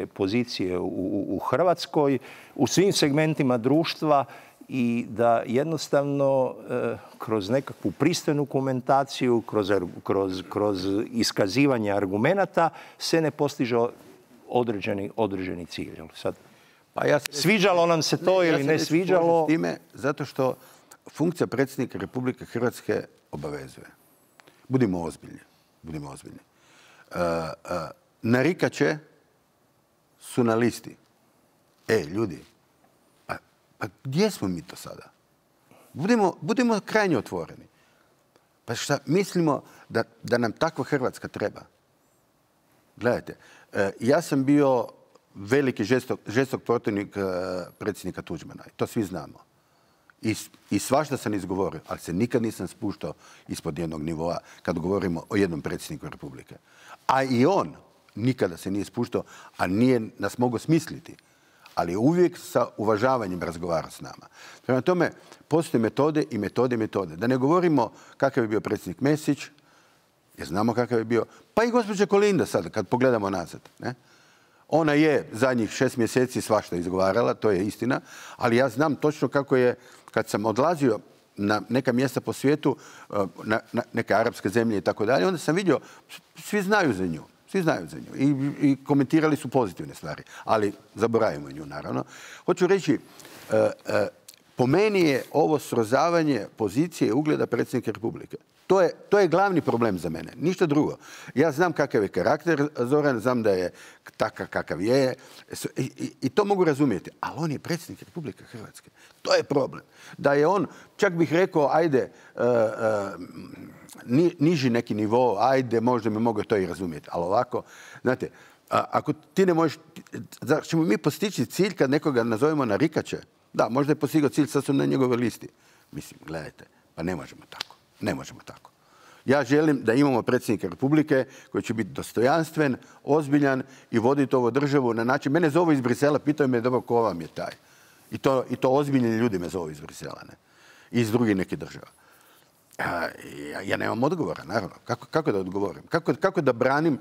pozicije u Hrvatskoj, u svim segmentima društva i da jednostavno kroz nekakvu pristojnu komentaciju, kroz iskazivanje argumenata se ne postiže određeni cilj. Sad, sviđalo nam se to ili ne sviđalo? Zato što funkcija predsjednika Republike Hrvatske obavezuje. Budimo ozbiljni. Narikače su na listi. Ljudi, pa gdje smo mi to sada? Budimo krajnje otvoreni. Pa šta, mislimo da nam takva Hrvatska treba? Gledajte, ja sam bio veliki žestok protivnik predsjednika Tuđmana. To svi znamo. I svašta sam izgovorio, ali se nikad nisam spuštao ispod jednog nivoa kad govorimo o jednom predsjedniku Republike. A i on nikada se nije spuštao, a nije nas mogao smisliti. Ali uvijek sa uvažavanjem razgovara s nama. Prema tome, postoje metode i metode. Da ne govorimo kakav je bio predsjednik Mesić, jer znamo kakav je bio, pa i gospođa Kolinda sad, kad pogledamo nazad. Ne? Ona je zadnjih 6 mjeseci svašta izgovarala, to je istina, ali ja znam točno kako je, kad sam odlazio na neka mjesta po svijetu, na neke arapske zemlje i tako dalje, onda sam vidio, svi znaju za nju. I komentirali su pozitivne stvari, ali zaboravimo nju, naravno. Hoću reći, po meni je ovo srozavanje pozicije i ugleda predsjednika Republike. To je glavni problem za mene, ništa drugo. Ja znam kakav je karakter Zoran, znam da je takav kakav je i to mogu razumjeti, ali on je predsjednik Republike Hrvatske. To je problem. Da je on, čak bih rekao, ajde, niži neki nivo, ajde, možda mi mogu to i razumjeti, ali ovako, znate, ako ti ne možeš, ćemo mi postići cilj kad nekoga nazovemo narikače? Da, možda je postigao cilj, sad sam na njegovoj listi. Mislim, gledajte, pa ne možemo tako. Ja želim da imamo predsjednika Republike koji će biti dostojanstven, ozbiljan i voditi ovu državu na način. Mene zovu iz Brisela, pitaju me dobro ko vam je taj. I to ozbiljni ljudi me zovu iz Brisela, ne? I iz drugih nekih država. Ja nemam odgovora, naravno. Kako da odgovorim? Kako da branim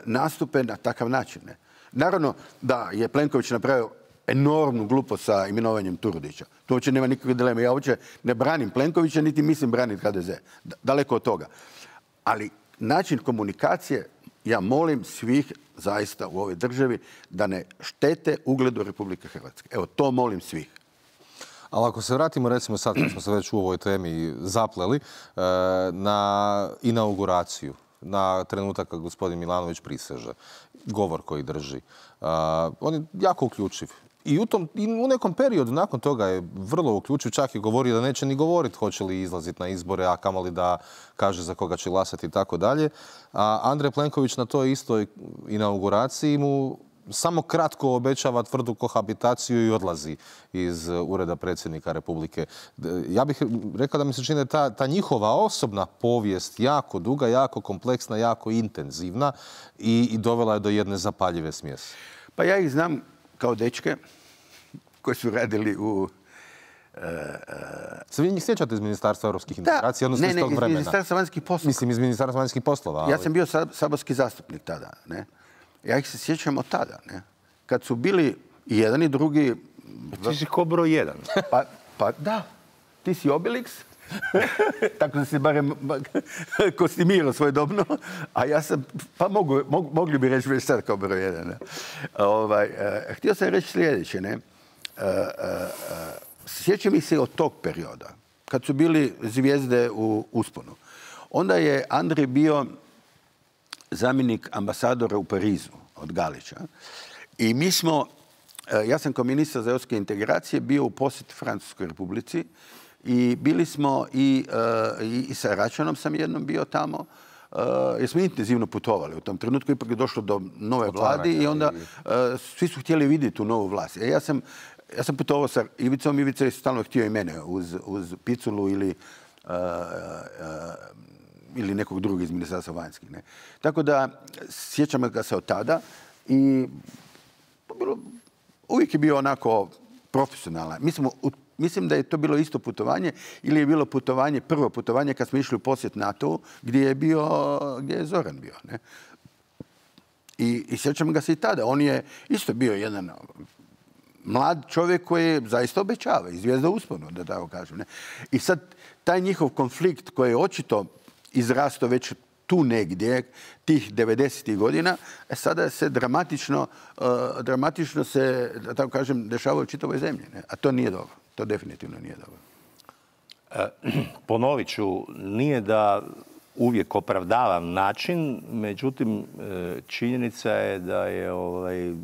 nastupe na takav način? Ne? Naravno da je Plenković napravio enormnu glupost sa imenovanjem Turudića. To uopće nema nikakve dileme. Ja uopće ne branim Plenkovića, niti mislim braniti HDZ. Daleko od toga. Ali način komunikacije, ja molim svih zaista u ovoj državi da ne štete ugledu Republike Hrvatske. Evo, to molim svih. Ali ako se vratimo, recimo sad kad smo se već u ovoj temi zapleli, na inauguraciju, na trenutak kad gospodin Milanović priseže, govor koji drži, on je jako uključiv. I u nekom periodu nakon toga je vrlo uključiv, čak i govorio da neće ni govoriti hoće li izlaziti na izbore, a kamoli da kaže za koga će glasati i tako dalje. A Andrej Plenković na toj istoj inauguraciji mu samo kratko obećava tvrdu kohabitaciju i odlazi iz Ureda predsjednika Republike. Ja bih rekao da mi se čini da je ta njihova osobna povijest jako duga, jako kompleksna, jako intenzivna i dovela je do jedne zapaljive smjese. Pa ja ih znam kao dečke koji su radili u... Se vi njih sjećate iz Ministarstva europskih integracija, odnosno iz tog vremena? Ne, iz Ministarstva vanjskih poslova. Mislim, iz Ministarstva vanjskih poslova. Ali... Ja sam bio saborski zastupnik tada, ne? Ja ih se sjećam od tada, ne? Kad su bili i jedan i drugi... Ti si ko broj jedan. Pa da, ti si Obelix, Tako da se barem kostimirao svojedobno, a ja sam, pa mogli bi reći već sad kao broj jedan. Htio sam reći sljedeće, ne? Sjećam ih se od tog perioda, kad su bili zvijezde u usponu. Onda je Andrej bio zamjenik ambasadora u Parizu od Galića. I mi smo, ja sam kao ministar za europske integracije bio u posjeti Francuskoj Republici i bili smo i sa Račanom sam jednom bio tamo, jer smo intenzivno putovali. U tom trenutku ipak je došlo do nove vlade i onda svi su htjeli vidjeti tu novu vlast. Ja sam putovao sa Ivicom, Ivica je stalno htio i mene uz Piculu ili nekog drugog iz Ministarstva vanjskih. Ne? Tako da sjećam ga se od tada i uvijek je bio onako profesionalan. Mislim da je to bilo isto putovanje ili je bilo prvo putovanje kad smo išli u posjet NATO-u gdje je Zoran bio. Ne? I sjećam ga se i tada. On je isto bio jedan mlad čovjek koji zaista obećava i zvijezda usponu, da tako kažem. Ne? I sad taj njihov konflikt koji je očito izrastao već tu negdje, tih 90. godina, sada se dramatično se, da tako kažem, dešava u čitavoj zemlji. Ne? A to nije dobro. To definitivno nije dobro. Ponovit ću, nije da uvijek opravdavam način, međutim, činjenica je da je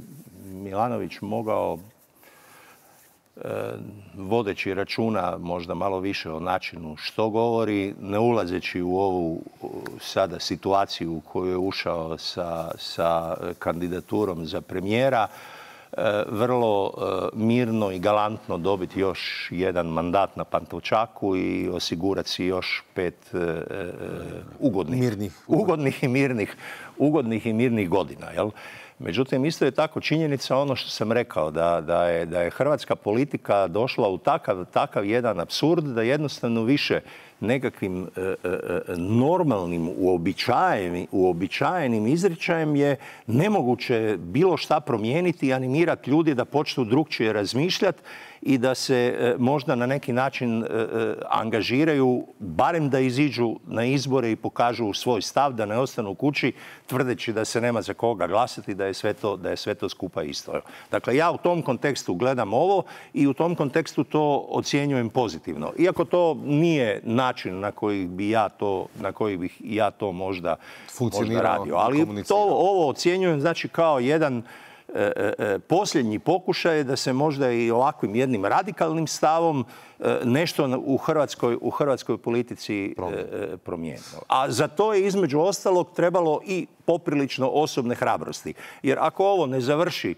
Milanović mogao, vodeći računa možda malo više o načinu što govori, ne ulazeći u ovu sada situaciju u koju je ušao sa kandidaturom za premijera, vrlo mirno i galantno dobiti još jedan mandat na Pantovčaku i osigurati si još 5 ugodnih i mirnih godina. Jel? Međutim, isto je tako činjenica ono što sam rekao, da je hrvatska politika došla u takav jedan apsurd da jednostavno više nekakvim normalnim, uobičajenim izričajem je nemoguće bilo šta promijeniti i animirati ljudi da počnu drukčije razmišljati i da se možda na neki način angažiraju, barem da iziđu na izbore i pokažu svoj stav, da ne ostanu kući tvrdeći da se nema za koga glasati, da je sve to skupa isto. Dakle, ja u tom kontekstu gledam ovo i u tom kontekstu to ocjenjujem pozitivno. Iako to nije način na koji bih ja to možda radio. Ali ovo ocjenjujem znači kao jedan posljednji pokušaj da se možda i ovakvim jednim radikalnim stavom nešto u hrvatskoj politici promijenilo. A za to je između ostalog trebalo i poprilično osobne hrabrosti. Jer ako ovo ne završi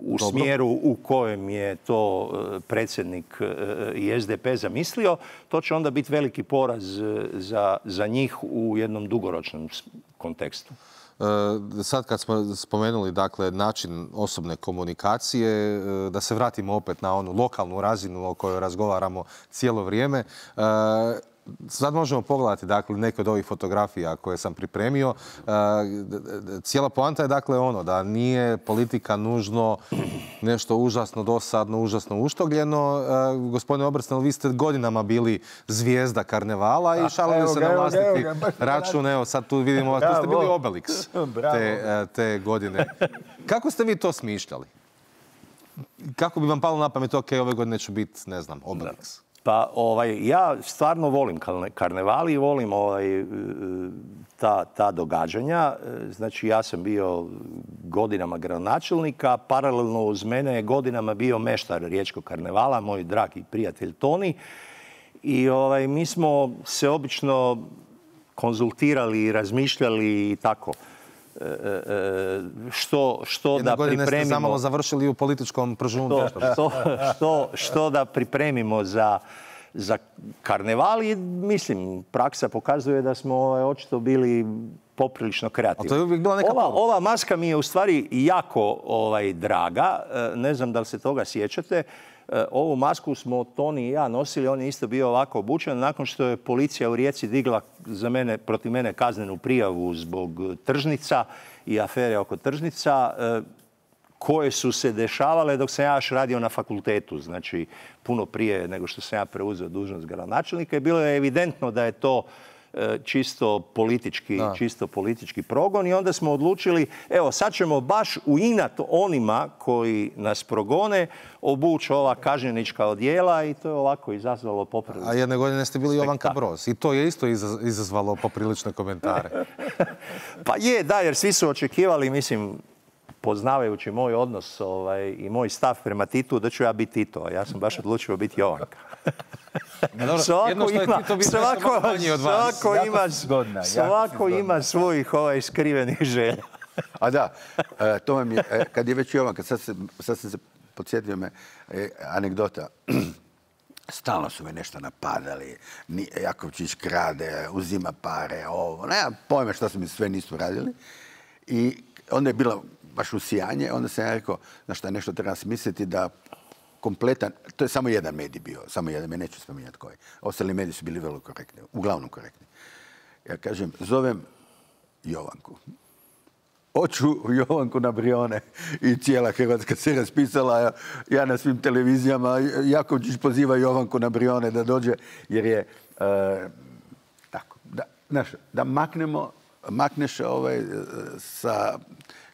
u smjeru u kojem je to predsjednik i SDP zamislio, to će onda biti veliki poraz za njih u jednom dugoročnom kontekstu. Sad kad smo spomenuli dakle, način osobne komunikacije, da se vratimo opet na onu lokalnu razinu o kojoj razgovaramo cijelo vrijeme. Sad možemo pogledati dakle, neke od ovih fotografija koje sam pripremio. Cijela poanta je dakle ono da nije politika nužno nešto užasno dosadno, užasno uštogljeno. Gospodine Obersnel, vi ste godinama bili zvijezda karnevala i šalili se na vlastiti račun. Evo sad tu vidimo, tu ste bili Obelix te godine. Kako ste vi to smišljali? Kako bi vam palo na pamet, ok, ove godine ću biti, ne znam, Obelix? Pa ja stvarno volim karneval i volim ta događanja. Znači ja sam bio godinama gradonačelnika, paralelno uz mene je godinama bio meštar riječkog karnevala, moj dragi prijatelj Toni. I mi smo se obično konzultirali i razmišljali i tako. Što da pripremimo... Jedne godine ste zamalo završili u političkom pržunu. Što da pripremimo za karneval i mislim, praksa pokazuje da smo očito bili poprilično kreativni. To je uvijek bila neka ova maska mi je u stvari jako draga. Ne znam da li se toga sjećate. Ovu masku smo Toni i ja nosili, on je isto bio ovako obučen. Nakon što je policija u Rijeci digla protiv mene kaznenu prijavu zbog tržnica i afere oko tržnica, koje su se dešavale dok sam ja još radio na fakultetu, znači puno prije nego što sam ja preuzeo dužnost gradonačelnika, i bilo je evidentno da je to čisto politički progon, i onda smo odlučili, evo sad ćemo baš u inat onima koji nas progone obući ova kažnjenička odijela, i to je ovako izazvalo poprilično. A jedne godine ste bili Jovanka Broz i to je isto izazvalo poprilične komentare. Pa je, da, jer svi su očekivali, mislim, poznavajući moj odnos i moj stav prema Titu, da ću ja biti Tito, a ja sam baš odlučio biti Jovanka. Svako ima svojih skrivenih želja. A da, to vam je, kad je već Jovanka, sad sam se podsjetio me anegdota. Stalno su me nešto napadali, Jakovčić krade, uzima pare, ovo, nema pojma što su mi sve nisu radili. I onda je bilo baš usijanje, onda sam ja rekao, znaš šta, nešto treba smisliti da kompletan, to je samo jedan medij bio, samo jedan, neću spominjati koji. Ostali mediji su bili vrlo korektni, uglavnom korektni. Ja kažem, zovem Jovanku. Hoću Jovanku na Brione, i cijela Hrvatska se raspisala, ja na svim televizijama, Jakovčić poziva Jovanku na Brione da dođe, jer je tako, da makneš sa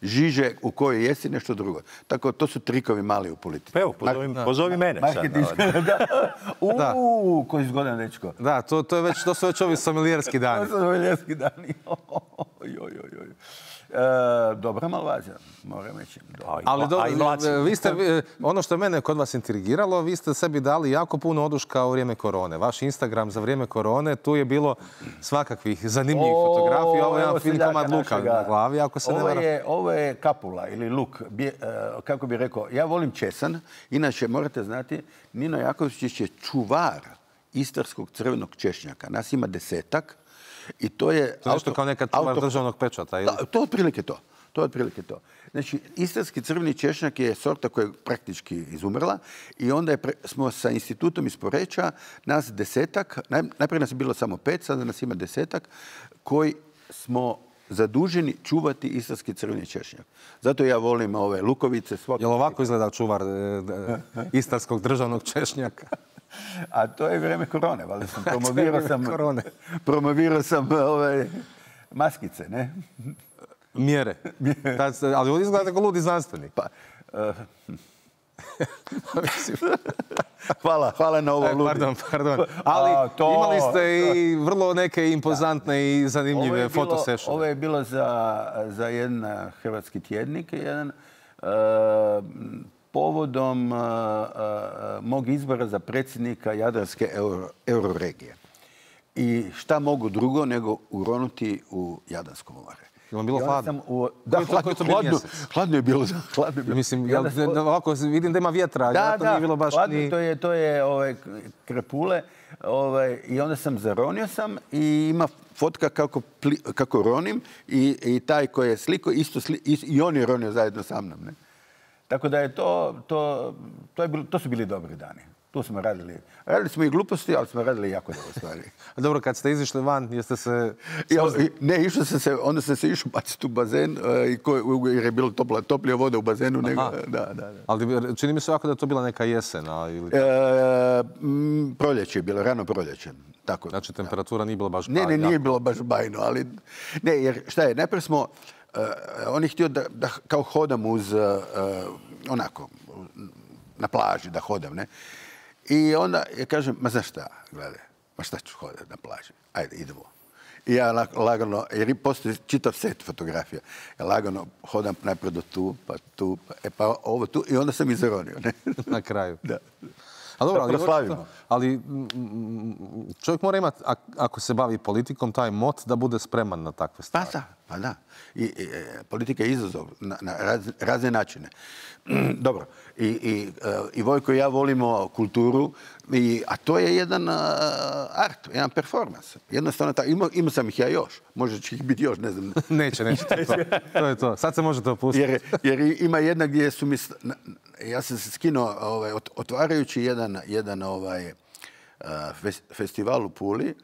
žiže u kojoj jesi nešto drugo. Tako, to su trikovi mali u politici. Evo, pozovi mene sad. Koji zgodan dečko. Da, to su već ovi somelijerski dani. To su somelijerski dani. Dobra malvazija, moram reći. Ali vi ste, ono što je mene kod vas intrigiralo, vi ste sebi dali jako puno oduška u vrijeme korone. Vaš Instagram za vrijeme korone, tu je bilo svakakvih zanimljivih fotografija. Ovo je jedan fin komad luka na glavi, ako se ne varam. Ovo je kapula ili luk. Kako bih rekao, ja volim česan. Inače, morate znati, Nino Jakovčić je čuvar istarskog crvenog češnjaka. Nas ima 10-ak. I to je nešto kao nekad čuvar državnog pečata. To je otprilike to. Znači, istarski crveni češnjak je sorta koja je praktički izumrla, i onda smo sa institutom iz Poreča, nas 10-ak, najprije nas je bilo samo 5, sada nas ima 10-ak, koji smo zaduženi čuvati istarski crveni češnjak. Zato ja volim ove lukovice. Jel ovako izgleda čuvar istarskog državnog češnjaka? A to je vrijeme korone, valjda sam promovirao sam maskice, ne? Mjere. Ali ovdje izgledate kao ludi znanstvenik. Hvala na ovo ludi. Pardon. Ali imali ste i vrlo neke impozantne i zanimljive fotosešove. Ovo je bilo za jedan hrvatski tjednik, povodom mog izbora za predsjednika Jadranske euroregije. I šta mogu drugo nego uronuti u Jadransko more. Je vam bilo hladno? Hladno je bilo. Mislim, ovako vidim da ima vjetra. Da, hladno, to je krepule. I onda sam zaronio i ima fotka kako ronim, i taj koji je sliko, i on je ronio zajedno sa mnom. Tako da je to su bili dobri dani. Tu smo radili. Radili smo i gluposti, ali smo radili jako dobro stvari. Dobro, kad ste izišli van, jeste se... Ne, onda sam se išao baciti u bazen, jer je bilo toplija voda u bazenu. Ali čini mi se ovako da je to bila neka jesen. Proljeće je bilo, rano proljeće. Znači, temperatura nije bila baš bajno. Ne, nije bilo baš bajno, ali... Ne, jer šta je, najprije smo... On je htio da kao hodam uz, onako, na plaži da hodam, ne? I onda kažem, ma znaš šta, gledaj, ma šta ću hodati na plaži? Ajde, idemo. I ja lagano, jer postoji čitav set fotografija, ja lagano hodam najprije do tu, pa ovo tu, i onda sam i zaronio, ne? Na kraju. Da. Ali čovjek mora imati, ako se bavi politikom, taj mot da bude spreman na takve stvari. Pa da. I politika je izazov na razne načine. Dobro. I Vojko i ja volimo kulturu, a to je jedan art, jedan performans. Jednostavno, imao sam ih ja još. Možda će ih biti još, ne znam. Neće. To je to. Sad se možete opustiti. Jer ima jedna gdje su mi... Ja sam se skinuo otvarajući jedan festival u Puli,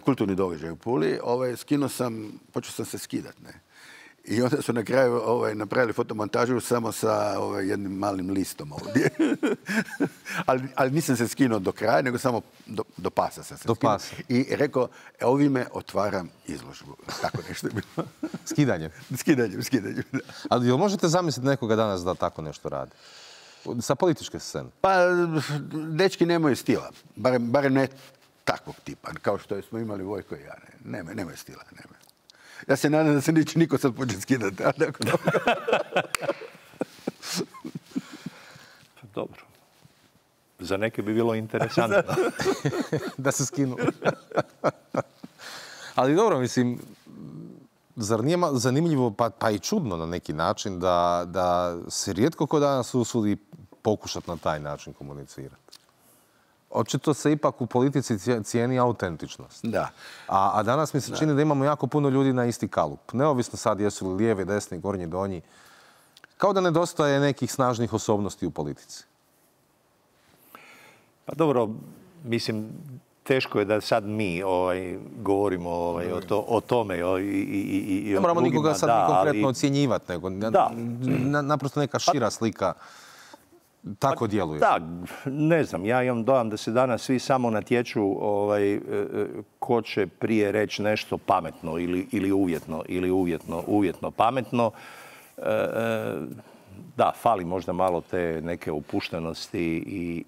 kulturni događaj u Puli, počeo sam se skidati, ne? I onda su na kraju napravili fotomontažu samo sa jednim malim listom ovdje. ali nisam se skinuo do kraja, nego samo do pasa sam se skinuo. I rekao, ovime otvaram izložbu. Tako nešto je bilo. Skidanjem? Skidanjem. Da. Ali jel možete zamisliti nekoga danas da tako nešto radi? Sa političke scene? Pa, dečki nemaju stila. Barem ne takvog tipa, kao što smo imali Vojko i ja. Nemaju stila, nemaju. Ja se nadam da se neće niko sad početi skidati. Dobro. Za neke bi bilo interesantno. Da se skinu. Ali dobro, mislim, zar nije zanimljivo, pa i čudno na neki način, da se rijetko ko danas usudi pokušati na taj način komunicirati? Očito se ipak u politici cijeni autentičnost. Da. A danas mi se čini da imamo jako puno ljudi na isti kalup. Neovisno sad jesu li lijevi, desni, gornji, donji. Kao da nedostaje nekih snažnih osobnosti u politici. Pa dobro, mislim, teško je da sad mi govorimo o tome i o drugima. Ne moramo nikoga sad konkretno ocjenjivati, nego naprosto neka šira slika tako djeluje. Da, ne znam, ja imam dojam da se danas svi samo natječu ko će prije reći nešto pametno ili uvjetno pametno. Da, fali možda malo te neke opuštenosti i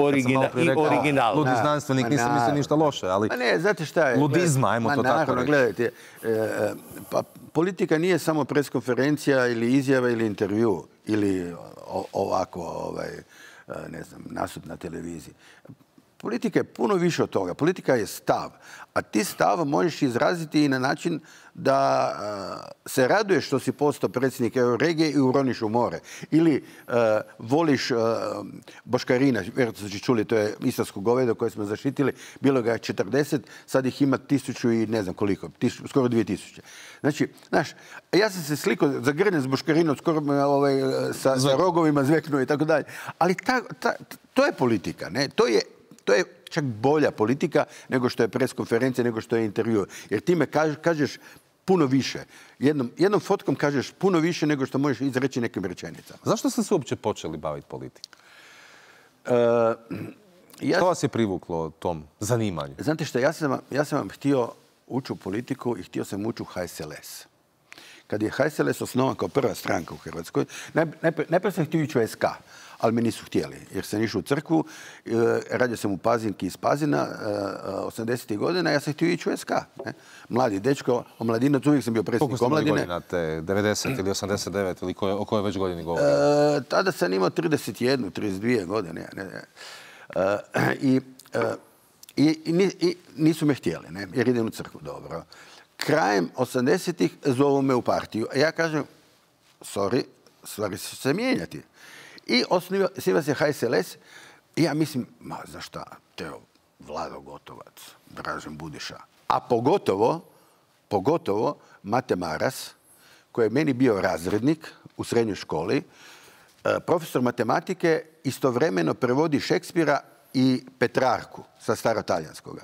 originalnosti. Ludi znanstvenik, nisam mislio ništa loše, ali ne, znate šta je? Ludizma, ajmo to tako reći. Gledajte, pa politika nije samo preskonferencija ili izjava ili intervju ili ovako, ne znam, nastup na televiziji. Politika je puno više od toga. Politika je stav. A ti stav možeš izraziti i na način da se raduješ što si postao predsjednik Euroregije i uroniš u more. Ili voliš boškarina, vjerojatno ste čuli, to je istarsko govedo koje smo zaštitili, bilo ga je 40, sad ih ima 1000 i ne znam koliko, skoro 2000. Znači, znaš, ja sam se slikao zagrljen s boškarinom, skoro sa rogovima zveknuo i tako dalje. Ali to je politika, ne? To je čak bolja politika nego što je preskonferencija, nego što je intervju. Jer time kažeš puno više. Jednom fotkom kažeš puno više nego što možeš izreći nekim rečenicama. Zašto ste se uopće počeli baviti politikom? Što vas je privuklo tom zanimanju? Znate što, ja sam vam htio ući u politiku i htio sam ući u HSLS. Kad je HSLS osnovan kao prva stranka u Hrvatskoj, najprije sam htio ići u SK, ali me nisu htjeli, jer sam išao u crkvu, radio sam u Pazinki iz Pazina, 80. godina, ja sam htio ići u SK. Ne? Mladi dečko, omladinac, uvijek sam bio predsjednik omladine. Koliko ste imali godina, 90 ili 89, ili o kojoj već godini govorimo? Tada sam imao 31, 32 godine. I nisu me htjeli, ne? Jer idem u crkvu, dobro. Krajem 80-ih zovu me u partiju. A ja kažem, sorry, stvari će se mijenjati. I osniva se HSLS i ja mislim, za šta? Teo, Vlado Gotovac, Dražen Budiša. A pogotovo Mate Maras, koji je meni bio razrednik u srednjoj školi, profesor matematike, istovremeno prevodi Šekspira i Petrarku sa starotalijanskoga.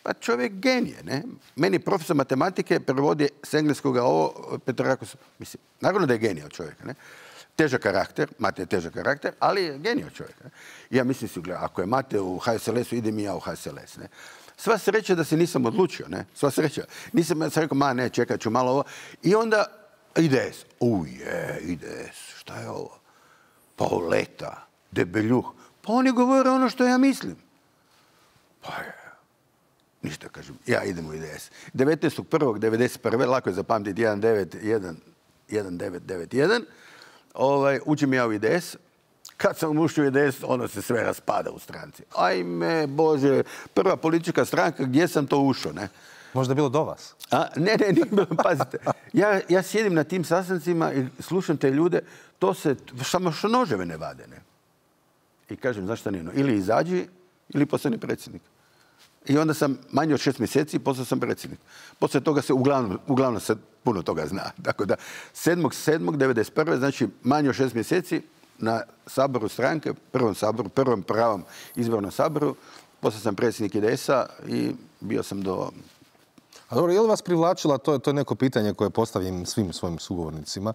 Pa čovjek genije, ne? Meni profesor matematike prevodi s engleskoga ovo, Petrarku, mislim, naravno da je genije čovjek, ne? Težak karakter, Mate je težak karakter, ali je genio čovjek. Ne? Ja mislim si, gledaj, ako je Mate u HSLS-u, idem i ja u HSLS. Ne? Sva sreća da se nisam odlučio, ne? Sva sreća. Nisam sam rekao, ne, čekat ću malo ovo. I onda IDS. IDS, šta je ovo? Pauleta, Debeljuh. Pa oni govore ono što ja mislim. Pa je. Ništa, kažem, ja idem u IDS. 19.1.1991. lako je zapamtiti 1991. Uđem ja u IDS. Kad sam ušao u IDS, ono se sve raspada u stranci. Ajme, Bože, prva politička stranka, gdje sam to ušao, ne? Možda je bilo do vas? Ne, nije bilo, pazite. Ja sjedim na tim sastancima i slušam te ljude, to se, samo što noževe ne vade, ne? I kažem, zašto nije? Ili izađi, ili postani predsjednik. I onda sam manje od 6 mjeseci, postao sam predsjednik. Poslije toga se uglavnom se puno toga zna. Tako da 7.7.1991. znači manje od 6 mjeseci na saboru stranke, prvom pravom izbornom saboru, postao sam predsjednik IDS-a i bio sam do A dobro, je li vas privlačila, to je neko pitanje koje postavim svim svojim sugovornicima,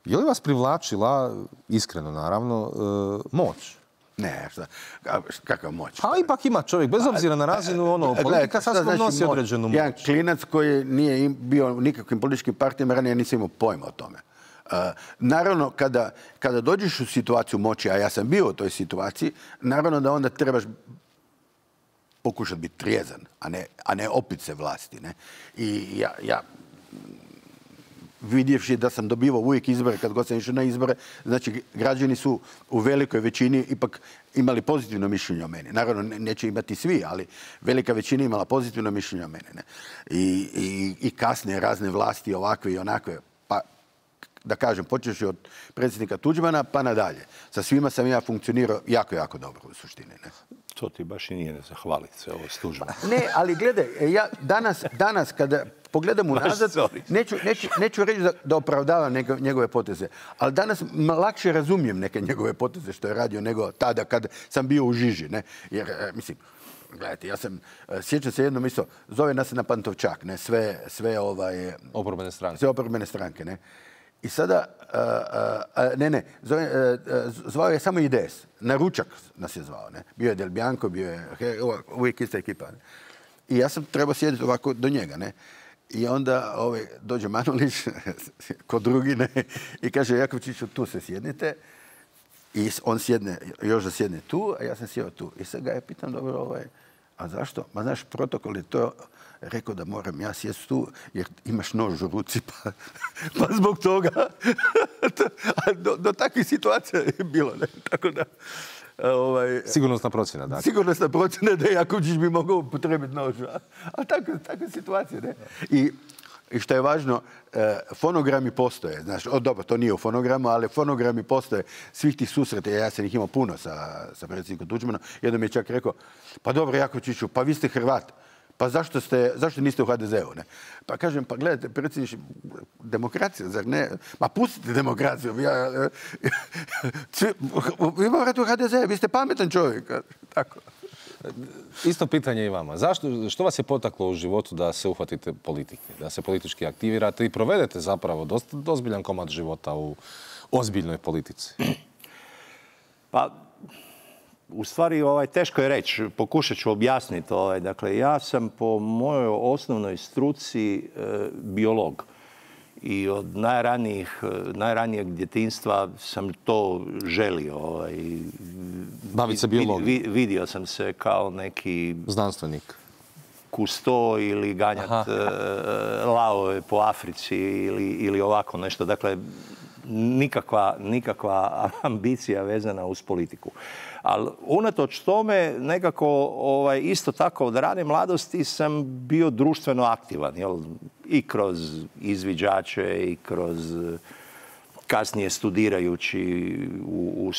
je li vas privlačila, iskreno naravno, moć? Ne, kakav moć? A ipak ima čovjek, bez obzira na razinu, politika sasvim nosi određenu moć. Jedan klinac koji nije bio u nikakvim političkim partijama, ranije nisam imao pojma o tome. Naravno, kada dođeš u situaciju moći, a ja sam bio u toj situaciji, naravno da onda trebaš pokušati biti trijezan, a ne opit se vlasti. Ne? I ja vidjevši da sam dobivao uvijek izbore, kad god sam išao na izbore, znači građani su u velikoj većini ipak imali pozitivno mišljenje o meni. Naravno, neće imati svi, ali velika većina imala pozitivno mišljenje o meni. Ne? I kasnije razne vlasti, ovakve i onakve, pa da kažem, počeš od predsjednika Tuđmana pa nadalje. Sa svima sam ja funkcionirao jako, jako dobro u suštini. Ne? To ti baš i nije ne zahvaliti se ovo s Tuđmanom. Ne, ali gledaj, ja danas kada pogledam unazad, neću reći da opravdavam njegove poteze, ali danas lakše razumijem neke njegove poteze što je radio nego tada kad sam bio u žiži. Ne? Jer, mislim, gledajte, ja sam, sjećam se jednom isto, zove nas na Pantovčak, ne? Sve oporbene stranke. Sve oporbene stranke, ne? I sada, zvao je samo IDS. Na ručak nas je zvao. Ne? Bio je Del Bianco, bio je uvijek ista ekipa. Ne? I ja sam trebao sjediti ovako do njega. Ne? I onda dođe Manulić, kod drugi, ne? I kaže, Jakovčiću, tu se sjednite. I on sjedne, još da sjedne tu, a ja sam sjeo tu. I sad ga ja pitam, dobro, a zašto? Ma znaš, protokol je to rekao da moram ja sjesti tu jer imaš nož u ruci, pa zbog toga. Do takvih situacija je bilo. Ne? Tako da, sigurnosna procjena, dakle. Sigurnosna procjena da Jakovčić bi mogao upotrebiti nož. A takve situacije, ne? I što je važno, fonogrami postoje. Znaš, dobro, to nije u fonogramu, ali fonogrami postoje svih tih susreta. Ja sam ih imao puno sa predsjednikom Tuđmanom. Jednom je čak rekao, pa dobro, Jakovčiću, pa vi ste Hrvat. Pa zašto niste u HDZ-u? Ne? Pa kažem, pa gledajte, predsjedniče, demokracija, zar ne? Ma pustite demokraciju. Vi morate u HDZ, vi ste pametan čovjek. Tako. Isto pitanje i vama. Što vas je potaklo u životu da se uhvatite politike, da se politički aktivirate i provedete zapravo dosta ozbiljan komad života u ozbiljnoj politici? Pa, u stvari, teško je reći. Pokušat ću objasniti. Dakle, ja sam po mojoj osnovnoj struci biolog. I od najranijeg djetinjstva sam to želio. Baviti se biologijom? Vidio sam se kao neki znanstvenik. Kusto ili ganjat lavove po Africi ili ovako nešto. Dakle, nikakva ambicija vezana uz politiku. Ali unatoč tome nekako isto tako od rane mladosti sam bio društveno aktivan. I kroz izviđače i kroz kasnije studirajući u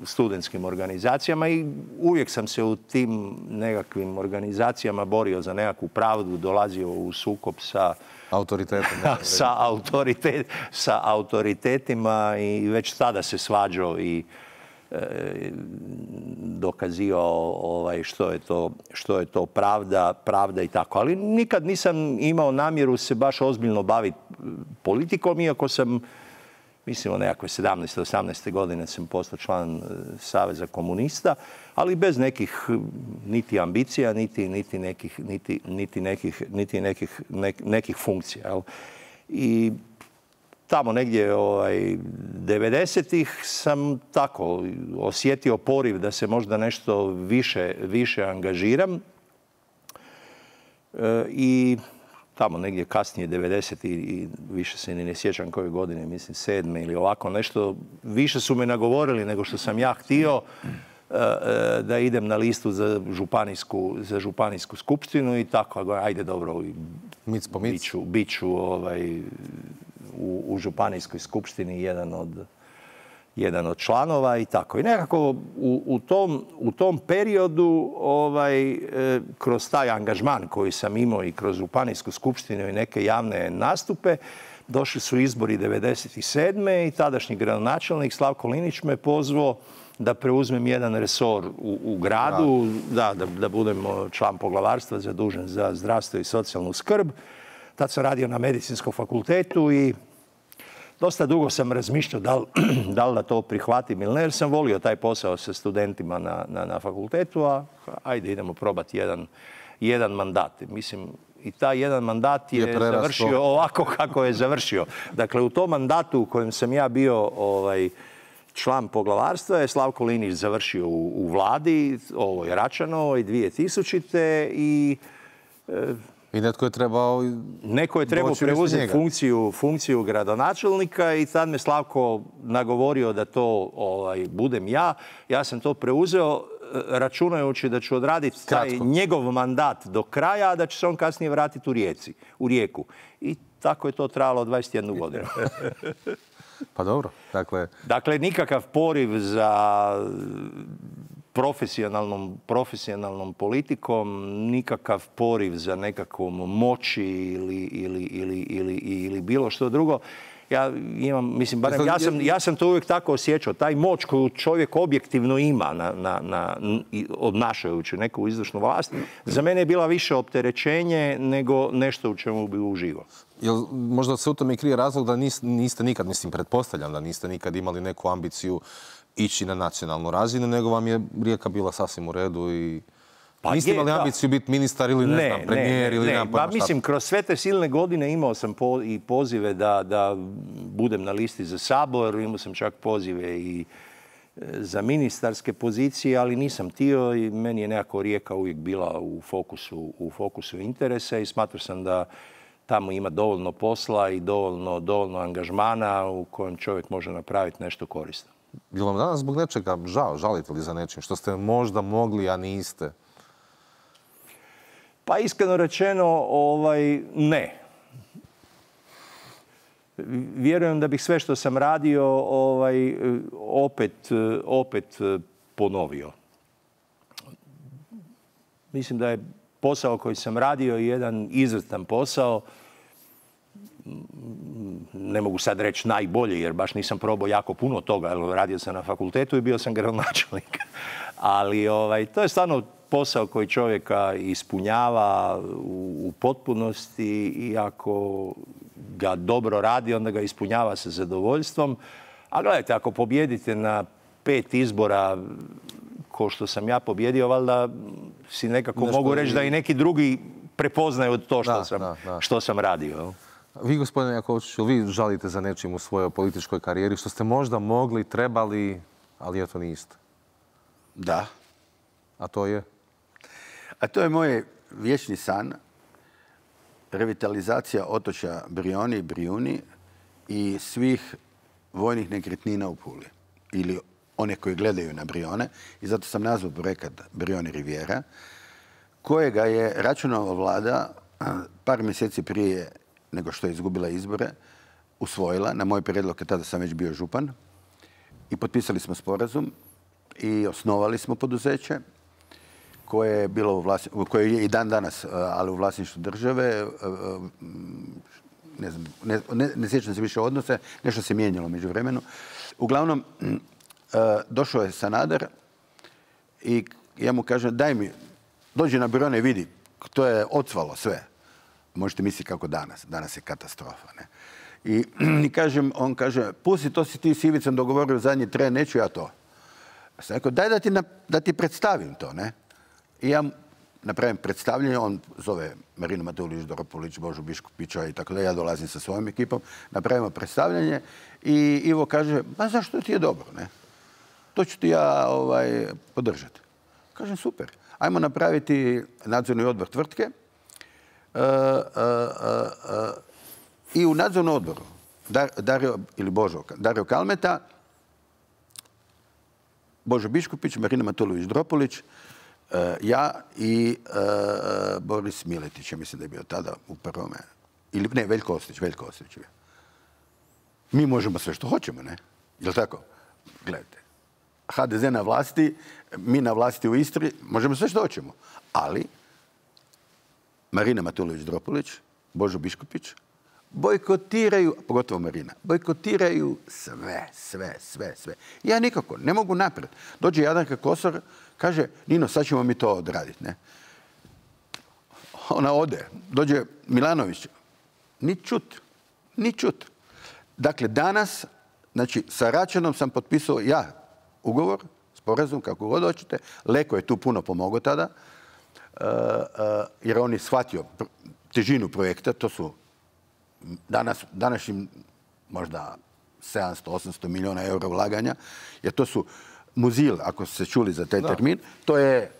studentskim organizacijama i uvijek sam se u tim nekakvim organizacijama borio za nekakvu pravdu, dolazio u sukob sa autoritetima i već tada se svađao i dokazivao što je to pravda i tako. Ali nikad nisam imao namjeru se baš ozbiljno baviti politikom, iako sam, mislim, o nekakve 17. 18. godine sam postao član Saveza komunista, ali bez nekih niti ambicija, niti nekih funkcija. Jel? I tamo negdje 90-ih sam tako osjetio poriv da se možda nešto više angažiram. I tamo negdje kasnije 90 i više se ni ne sjećam koje godine, mislim 7. ili ovako nešto, više su me nagovorili nego što sam ja htio da idem na listu za županijsku skupštinu i tako, ajde dobro, bit ću u županijskoj skupštini jedan od članova i tako. I nekako u tom periodu kroz taj angažman koji sam imao i kroz županijsku skupštinu i neke javne nastupe, došli su izbori 97. i tadašnji gradonačelnik Slavko Linić me pozvao da preuzmem jedan resor u gradu, da budem član poglavarstva zadužen za zdravstvo i socijalnu skrb. Tad sam radio na medicinskom fakultetu i dosta dugo sam razmišljao da li da to prihvatim ili ne, jer sam volio taj posao sa studentima na fakultetu, a ajde idemo probati jedan mandat. Mislim, i taj jedan mandat je završio ovako kako je završio. Dakle, u tom mandatu u kojem sam ja bio član poglavarstva je Slavko Linić završio u vladi, ovoj Račanovoj, 2000. I netko je trebao preuzeti funkciju gradonačelnika i tad me Slavko nagovorio da to budem ja. Ja sam to preuzeo računajući da ću odraditi taj njegov mandat do kraja, a da će se on kasnije vratiti u Rijeku. I tako je to trajalo 21 godinu. Pa dobro. Dakle, nikakav poriv za profesionalnom politikom, nikakav poriv za nekakvom moći ili bilo što drugo. Ja sam to uvijek tako osjećao. Taj moć koju čovjek objektivno ima obnašajući neku izvršnu vlast, za mene je bila više opterećenje nego nešto u čemu bi uživao. Jel možda se u tome krije razlog da niste nikad, pretpostavljam da niste nikad imali neku ambiciju ići na nacionalnu razinu, nego vam je Rijeka bila sasvim u redu i niste imali ambiciju biti ministar ili premijer ili nemam pojma šta. Mislim, kroz sve te silne godine imao sam i pozive da budem na listi za Sabor, imao sam čak pozive i za ministarske pozicije, ali nisam htio i meni je nekako Rijeka uvijek bila u fokusu interesa i smatrao sam da tamo ima dovoljno posla i dovoljno angažmana u kojem čovjek može napraviti nešto korisno. Je li vam danas zbog nečega žalite li za nečim što ste možda mogli, a niste? Pa iskreno rečeno, ne. Vjerujem da bih sve što sam radio opet ponovio. Mislim da je posao koji sam radio jedan izvrstan posao. Ne mogu sad reći najbolje, jer baš nisam probao jako puno toga. Radio sam na fakultetu i bio sam gradonačelnik. Ali to je stvarno posao koji čovjeka ispunjava u potpunosti i ako ga dobro radi, onda ga ispunjava sa zadovoljstvom. A gledajte, ako pobjedite na 5 izbora ko što sam ja pobjedio, valjda si nekako mogu reći da i neki drugi prepoznaju to što sam radio. Vi, gospodine Jakovčiću, vi žalite za nečim u svojoj političkoj karijeri što ste možda mogli, trebali, ali eto niste. Da. A to je? A to je moj vječni san. Revitalizacija otočja Brijoni i Brijuni i svih vojnih nekretnina u Puli. Ili one koji gledaju na Brijone. I zato sam nazvao projekat Brijoni Rivijera, kojega je Račanova vlada par mjeseci prije nego što je izgubila izbore, usvojila. Na moj prijedlog, tada sam već bio župan. I potpisali smo sporazum i osnovali smo poduzeće koje je bilo koje je i dan danas, ali u vlasništvu države. Ne sjećam se više odnose, nešto se mijenjalo među vremenu. Uglavnom, došao je Sanader i ja mu kažem, daj mi, dođi na Brijone i vidi, to je ocvalo sve. Možete misliti kako danas. Danas je katastrofa. Ne? I kažem, on kaže, pusti, to si ti s Ivicom dogovorio zadnji tren, neću ja to. Sam rekao, daj da ti predstavim to. Ne? I ja napravim predstavljanje, on zove Marinu Matulović-Dropulić, Božu Biškupića i tako da, ja dolazim sa svojom ekipom, napravimo predstavljanje i Ivo kaže, ma zašto ti je dobro, ne? To ću ti ja podržati. Kažem, super. Ajmo napraviti nadzorni odbor tvrtke i u nadzornom odboru Dario Kalmeta, Božo Biškupić, Marina Matulović-Dropulić, ja i Boris Miletić, ja mislim da je bio tada u prvome. Ili ne, Veljko Ostojić je bio. Mi možemo sve što hoćemo, ne? Jel' tako? Gledajte. HDZ na vlasti, mi na vlasti u Istri, možemo sve što hoćemo. Ali Marina Matulović-Dropulić, Božo Biškupić, bojkotiraju, pogotovo Marina, bojkotiraju sve. Ja nikako, ne mogu naprijed. Dođe Jadranka Kosor, kaže, Nino, sad ćemo mi to odraditi, ne? Ona ode, dođe Milanović, ni čut. Dakle, danas, znači, sa Račanom sam potpisao ja ugovor, sporazum, kako god hoćete. Leko je tu puno pomogao tada, jer on je shvatio težinu projekta. To su današnjim možda 700-800 milijuna eura ulaganja, jer to su Muzil, ako ste čuli za taj termin, to je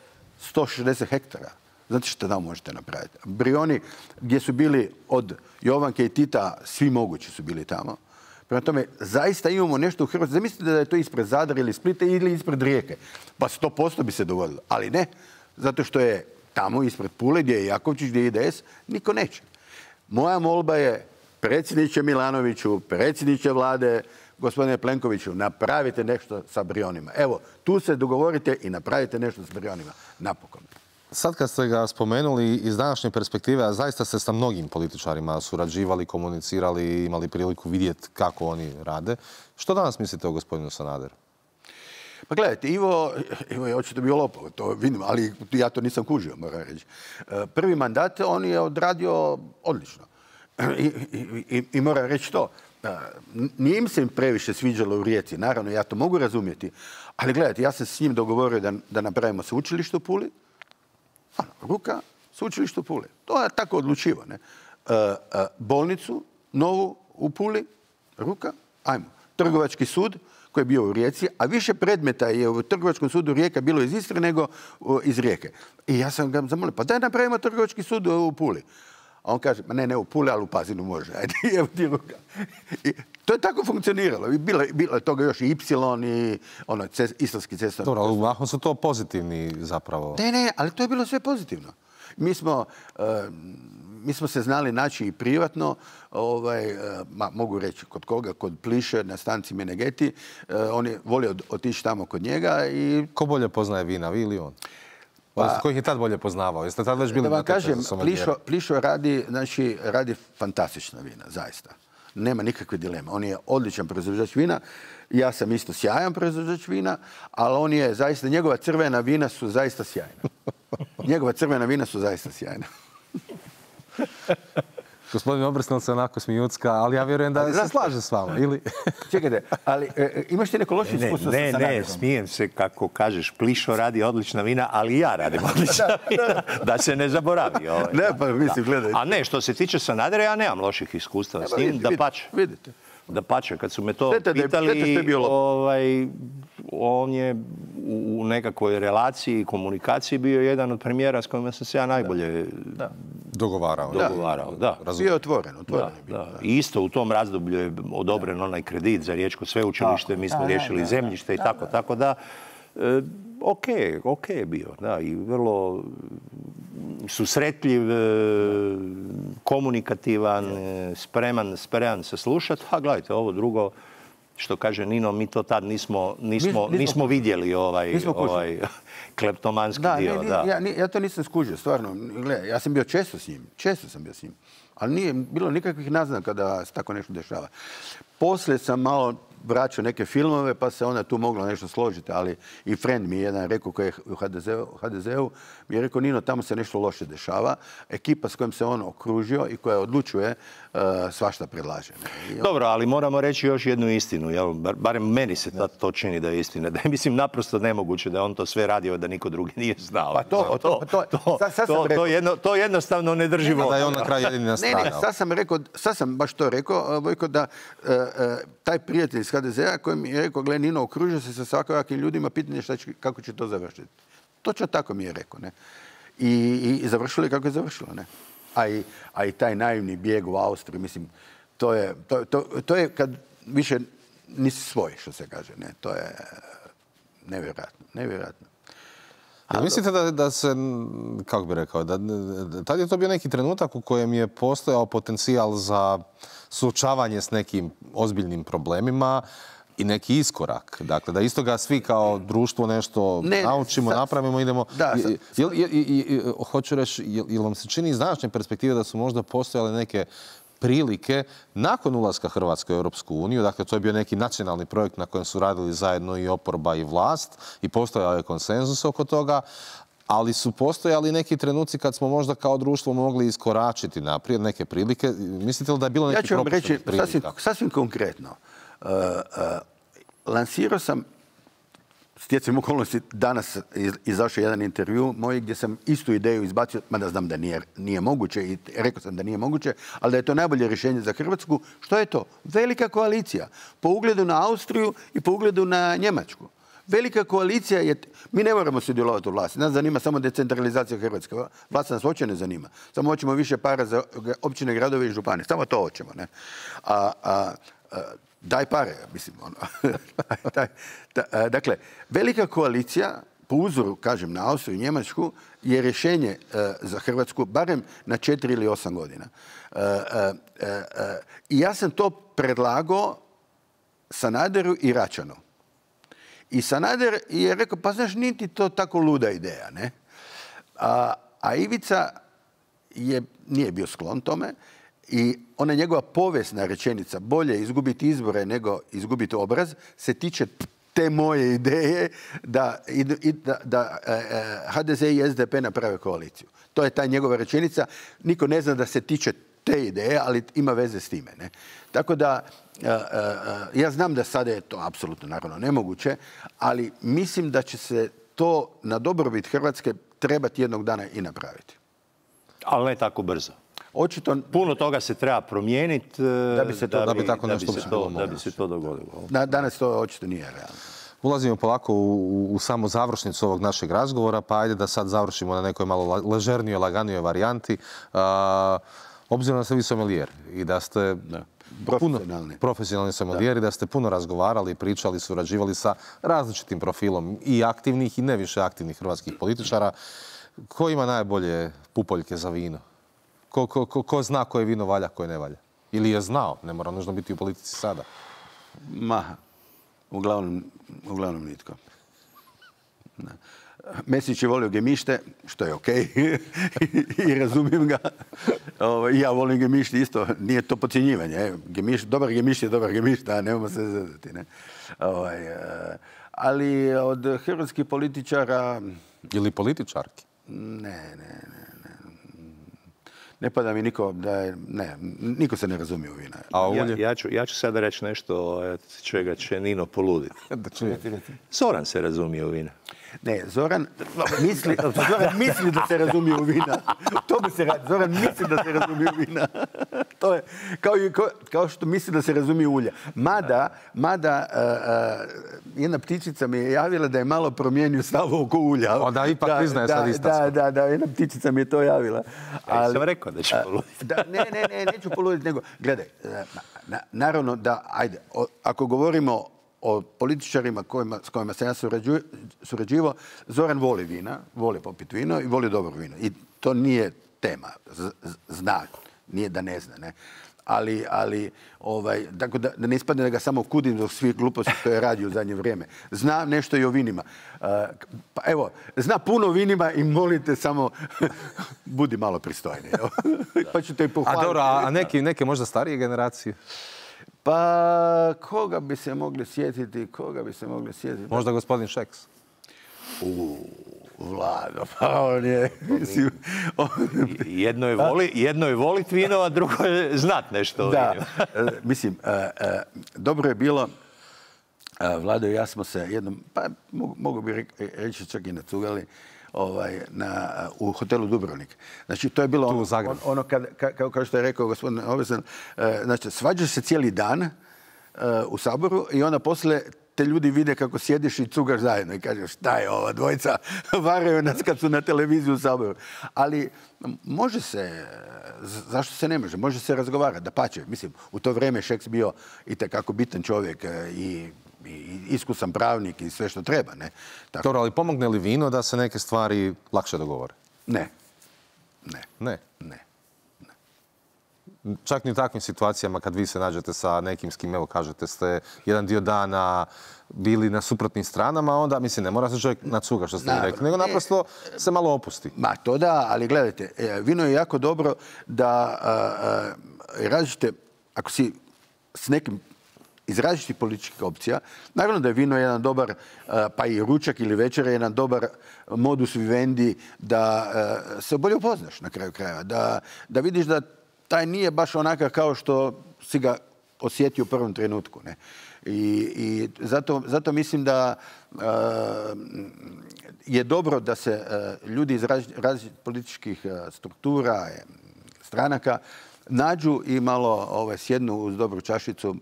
160 hektara. Znate što tamo možete napraviti? Brioni, gdje su bili od Jovanke i Tita, svi mogući su bili tamo. Prema tome, zaista imamo nešto u Hrvatskoj. Zamislite da je to ispred Zadra ili Splita ili ispred Rijeke. Pa 100% bi se dogodilo. Ali ne, zato što je tamo ispred Pule, gdje je Jakovčić, gdje je IDS, niko neće. Moja molba je, predsjedniče Milanoviću, predsjedniče vlade, gospodine Plenkoviću, napravite nešto sa Brionima. Evo, tu se dogovorite i napravite nešto s Brionima. Napokon. Sad kad ste ga spomenuli iz današnje perspektive, a zaista ste sa mnogim političarima surađivali, komunicirali, imali priliku vidjeti kako oni rade. Što danas mislite o gospodinu Sanaderu? Pa gledajte, Ivo je očito bio lopov, to vidim, ali ja to nisam kužio, moram reći. Prvi mandat on je odradio odlično. I moram reći to. Nije im se previše sviđalo u Rijeci, naravno, ja to mogu razumjeti. Ali gledajte, ja sam s njim dogovorio da napravimo sveučilište u Puli. Ruka, sveučilište u Puli. To je tako odlučivo. Ne? Bolnicu, novu u Puli, ruka, ajmo. Trgovački sud koji je bio u Rijeci, a više predmeta je u Trgovačkom sudu Rijeka bilo iz Istre nego iz Rijeke. I ja sam ga zamolio, pa daj napravimo Trgovački sud u Puli. A on kaže, ne u Puli, ali u Pazinu može. Ajde, evo ti ruka. I to je tako funkcioniralo. Bilo je toga još i Ipsilon i istarski cestovni. Dobro, ali mahom su to pozitivni zapravo. Ne, ali to je bilo sve pozitivno. Mi smo se znali naći i privatno, mogu reći kod koga, kod Pliše na stanci Menegeti. On je volio otići tamo kod njega. Ko bolje poznaje vina, vi ili on? Ko ih je tad bolje poznavao? Jeste tad već bili da vam kažem, Plišo radi fantastična vina, zaista. Nema nikakve dileme. On je odličan proizvođač vina. Ja sam isto sjajan proizvođač vina, ali on je zaista, njegova crvena vina su zaista sjajna. Gospodin Obersnel se onako smijucka, ali ja vjerujem da se slaže s vama, ili? Čekajte, ali imaš ti neko loše iskustvo sa Sanaderom? Ne, smijem se kako kažeš, Plišo radi odlična vina, ali i ja radim odlična vina, da se ne zaboravi. Ne, pa mislim, gledaj. A ne, što se tiče Sanadera, ja nemam loših iskustava s njim, vidite. Dapače, kad su me to pitali, on je u nekakvoj relaciji i komunikaciji bio jedan od premijera s kojima sam se ja najbolje dogovarao. Da. Bio je otvoren. I isto u tom razdoblju je odobren onaj kredit za Riječko sveučilište, mi smo riješili zemljište i tako da. Ok je bio, da, i vrlo susretljiv, komunikativan, spreman se slušati. A gledajte, ovo drugo, što kaže Nino, mi to tad nismo vidjeli ovaj kleptomanski dio. Ja to nisam skužio, stvarno. Gledaj, ja sam bio često s njim. Ali nije bilo nikakvih naznaka da se tako nešto dešava. Poslije sam malo vraćao neke filmove, pa se onda tu moglo nešto složiti, ali i friend mi je jedan rekao koji je u HDZ-u, mi je rekao, Nino, tamo se nešto loše dešava. Ekipa s kojom se on okružio i koja odlučuje, svašta predlaže. Dobro, ali moramo reći još jednu istinu, jel? Barem meni se to čini da je istina. Da je, mislim, naprosto nemoguće da je on to sve radio, da niko drugi nije znao. Pa to jednostavno ne drži vodu. Da je on na kraju jedini nastradao. Sad sam baš to rekao, Vojko, da taj prijatelj iz HDZ-a koji mi je rekao, gle, Nino, okružio se sa svakojakim ljudima, pitanje kako će to završiti. Točno tako mi je rekao, ne. I završilo je kako je završilo, ne. A i taj naivni bijeg u Austriju, mislim, to je kad više nisi svoj, što se kaže, ne. To je nevjerojatno. Mislite da se, kako bi rekao, tad je to bio neki trenutak u kojem je postojao potencijal za suočavanje s nekim ozbiljnim problemima i neki iskorak. Dakle, da iz toga svi kao društvo nešto naučimo, napravimo, idemo. Hoću reći, jel vam se čini iz današnje perspektive da su možda postojale neke prilike nakon ulaska Hrvatske u Europsku uniju. Dakle, to je bio neki nacionalni projekt na kojem su radili zajedno i oporba i vlast i postojao je konsenzus oko toga. Ali su postojali neki trenuci kad smo možda kao društvo mogli iskoračiti naprijed neke prilike. Mislite li da je bilo neki propuštenih prilika? Ja ću vam reći sasvim konkretno. Lansirao sam, stjecajem okolnosti, danas izašao jedan intervju moj gdje sam istu ideju izbacio, mada znam da nije moguće i rekao sam da nije moguće, ali da je to najbolje rješenje za Hrvatsku. Što je to? Velika koalicija. Po ugledu na Austriju i po ugledu na Njemačku. Velika koalicija je... Mi ne moramo sudjelovati u vlasti. Nas zanima samo decentralizacija Hrvatske. Vlast nas uopće ne zanima. Samo hoćemo više para za općine, gradove i županije. Samo to hoćemo. Ne? Daj pare, mislim. Dakle, velika koalicija, po uzoru, kažem, na Austriju i Njemačku, je rješenje za Hrvatsku barem na 4 ili 8 godina. I ja sam to predlagao Sanaderu i Račanu. I Sanader je rekao, pa znaš, niti to tako luda ideja, ne? A Ivica nije bio sklon tome i ona njegova povijesna rečenica, bolje izgubiti izbore nego izgubiti obraz, se tiče te moje ideje da HDZ i SDP naprave koaliciju. To je ta njegova rečenica. Niko ne zna da se tiče te ideje, ali ima veze s time, ne? Tako da, ja znam da sada je to apsolutno naravno nemoguće, ali mislim da će se to na dobrobit Hrvatske trebati jednog dana i napraviti. Ali ne tako brzo. Očito... Puno toga se treba promijeniti da bi se to dogodilo. Danas to očito nije realno. Ulazimo polako u samu završnicu ovog našeg razgovora, pa ajde da sad završimo na nekoj malo ležernijoj, laganijoj varijanti. Obzirom da ste vi sommelier i da ste profesionalni sommelier i da ste puno razgovarali, pričali, surađivali sa različitim profilom i aktivnih i ne više aktivnih hrvatskih političara, ko ima najbolje pupoljke za vino? Ko zna koje vino valja, koje ne valja? Ili je znao, ne mora nužno biti u politici sada? Uglavnom nitko. Mesić je volio gemište, što je okej, i razumijem ga. I ja volim gemišti isto, nije to podcjenjivanje. Dobar gemišt je dobar gemišt, a nemamo se zezati. Ali od hrvatskih političara... Ili političarki? Ne pada mi niko niko se ne razumije u vina. Ja ću sada reći nešto čega će Nino poluditi. Zoran se razumije u vina. Ne, Zoran misli da se razumije u vina. To bi se radi. Zoran misli da se razumije u vina. To je kao što misli da se razumije u ulja. Mada jedna ptičica mi je javila da je malo promijenio stav oko ulja. Onda ipak priznaje sad istac. Da, jedna ptičica mi je to javila. Ja sam rekao da ću poluditi. Ne, neću poluditi, nego, gledaj, naravno da, ajde, ako govorimo o političarima s kojima sam ja surađivao, Zoran voli vina, voli popiti vino i voli dobro vino. I to nije tema. Zna, nije da ne zna, ne. Ali tako da ne ispadne da ga samo kudim do svih gluposti što je radio u zadnje vrijeme. Zna nešto i o vinima. Pa evo, zna puno o vinima i molite samo budi malo pristojniji. Pa ću te pohvaliti. A neke možda starije generacije? Pa koga bi se mogli sjetiti? Možda gospodin Šeks? Vlado, pa on je... Jedno je voliti vino, a drugo je znat nešto o vinu. Mislim, dobro je bilo, Vlado i ja smo se jednom, pa mogu bi reći čak i nacugali, u hotelu Dubrovnik. Znači, to je bilo ono kao što je rekao gospodin Obesan, znači, svađaš se cijeli dan u Saboru i onda poslije te ljudi vide kako sjediš i cugaš zajedno i kažeš šta je ova dvojica, varaju nas kad su na televiziji u Saboru. Ali može se, zašto se ne može? Može se razgovarati, dapače. Mislim, u to vrijeme Šeks bio itekako bitan čovjek i iskusan pravnik i sve što treba, ne? Dobro, ali pomogne li vino da se neke stvari lakše dogovore? Ne. Čak ni u takvim situacijama kad vi se nađete sa nekim s kim, evo kažete, ste jedan dio dana bili na suprotnim stranama, onda, mislim, ne mora se čovjek nacuga što ste mi rekli, nego naprosto se malo opusti. To da, ali gledajte, vino je jako dobro da različite, ako si s nekim iz različitih političkih opcija, naravno da je vino jedan dobar, pa i ručak ili večer je jedan dobar modus vivendi da se bolje upoznaš na kraju krajeva. Da vidiš da taj nije baš onakav kao što si ga osjetio u prvom trenutku. Ne? I zato mislim da je dobro da se ljudi iz različitih političkih struktura, stranaka, nađu i malo sjednu uz dobru čašicu.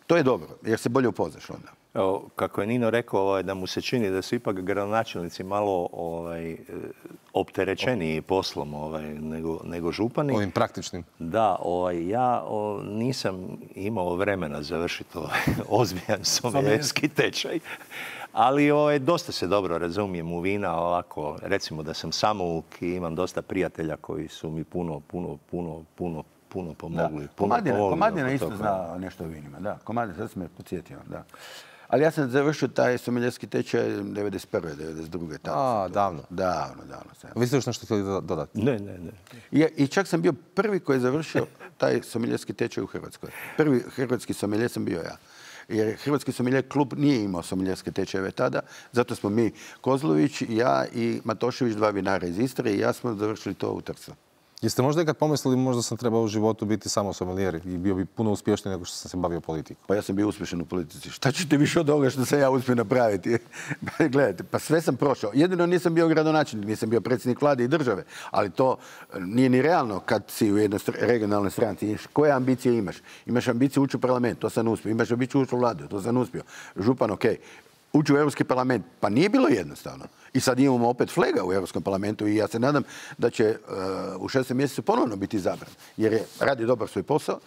To je dobro, jer se bolje upoznaš onda. Evo, kako je Nino rekao, da mu se čini da su ipak gradonačelnici malo opterećeniji poslom nego župani. Ovim praktičnim. Da, ja nisam imao vremena završiti ozbiljan somelijerski tečaj. Ali dosta se dobro razumijem u vina, ovako, recimo da sam samouk i imam dosta prijatelja koji su mi puno pomogli. Komadina isto zna nešto o vinima, da. Komadina, sad sam me podsjetio, da. Ali ja sam završio taj somelijerski tečaj 91. 92. Davno. Davno. Vi ste još nešto htjeli dodati? Ne. I čak sam bio prvi koji je završio taj somelijerski tečaj u Hrvatskoj. Prvi hrvatski somelijer sam bio ja. Jer Hrvatski sommelier klub nije imao sommeljerske tečajeve tada, zato smo mi, Kozlović, ja i Matošević, 2 vinara iz Istre, i ja smo završili to u Trstu. Jeste možda ikad pomislili možda sam trebao u životu biti samo sommelier i bio bi puno uspješniji nego što sam se bavio politikom? Pa ja sam bio uspješan u politici. Šta ćete više od ovoga što sam ja uspio napraviti? Gledajte, pa sve sam prošao. Jedino nisam bio gradonačelnik, nisam bio predsjednik vlade i države, ali to nije ni realno kad si u jednoj regionalnoj stranci. Koje ambicije imaš? Imaš ambiciju ući u parlament, to sam uspio. Imaš ambiciju ući u vladu, to sam uspio. Župan, okej. Ući u Europski parlament, pa nije bilo jednostavno. I sad imamo opet Flega u Europskom parlamentu i ja se nadam da će u 6. mjesecu ponovno biti izabran. Jer radi dobar svoj posao.